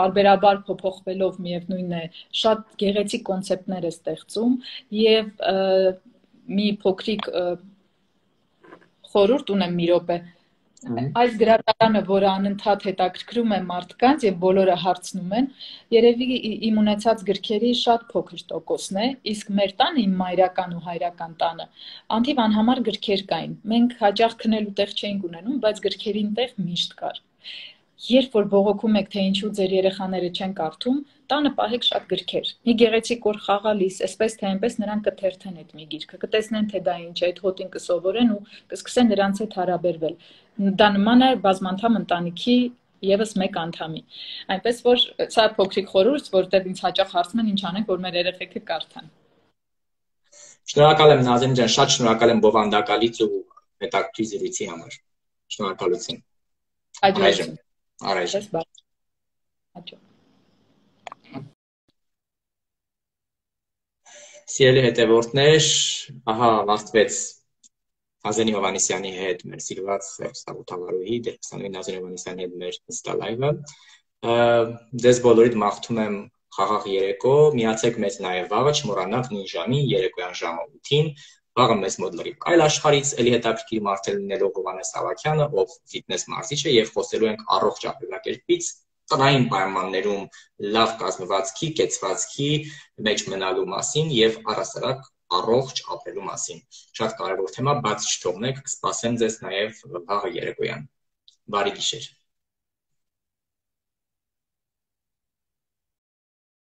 պարբերաբար փոփոխվելով միևնույն է, շատ գեղեցիկ կոնցեպտներ է ստեղծում եւ մի փոքրիկ խորհուրդ ունեմ մի րոպե։ Այս գրադարանը, որը անընդհատ հետաքրքրում է մարդկանց եւ բոլորը հարցնում են, երևի իմ ունեցած գրքերի շատ փոքր տոկոսն է, իսկ մեր տանը, իմ մայրական ու հայրական տանը, Անթիվ անհամար գրքեր կային։ Մենք հաճախ քնելու տեղ չէինք ունենում, բայց գրքերին տեղ միշտ կար։ Երբ որ բողոքում եք, թե ինչու ձեր երեխաները չեն կարդում, տանը պահեք շատ գրքեր։ Մի գեղեցիկ օր խաղալիս, այսպես թե այնպես նրանք կթերթեն այդ մի գիրքը, կտեսնեն, թե դա ինչ է, այդ հոտին կսովորեն ու կսկսեն նրանց հետ հարաբերվել։ Դա նման է բազմանդամ ընտանիքի եւս մեկ անդամի։ Այնպես որ սա փոքրիկ խորհուրդ, որտեղ ինձ հաճախ հարցնում են ինչ անենք, որ մեր երեխեքը կարդան։ Շնորհակալ եմ Նազենի ջան, շատ շնորհակալ եմ բովանդակալից ու հետաքրքիր զրույցի համար։ Շնորհակալություն։ Հաջողություն։ Առայժմ։ Հաջող։ Սիրելի հետևորդներ, ահա ավարտվեց Նազենի Հովհաննիսյանի հետ մեր սիրված հեռուստահաղորդավարուհի դերասանուհի Նազենի Հովհաննիսյանի հետ մեր նստա լայվը։ Ձեզ բոլորիդ մաղթում եմ խաղաղ երեկո, միացեք մեզ նաև վաղը, չմոռանաք նույն ժամին երեկոյան ժամը ութին, վաղը մեզ մոտ լրիվ այլ աշխարհից էլի հետաքրքիր մարդել լինելով Հովհաննես Ավագյանը, ով ֆիթնես մարզիչ է, եւ խոսելու ենք առողջ ապրելակերպից, տնային պայմաններում լավ կազմվածքի, կեցվածքի մեջ մնալու մասին եւ առասարակ առողջ ապրելու մասին։ Շատ կարևոր թեմա, բաց չթողնեք, կսպասեմ ձեզ նաև վաղը երեկոյան։ Բարի գիշեր։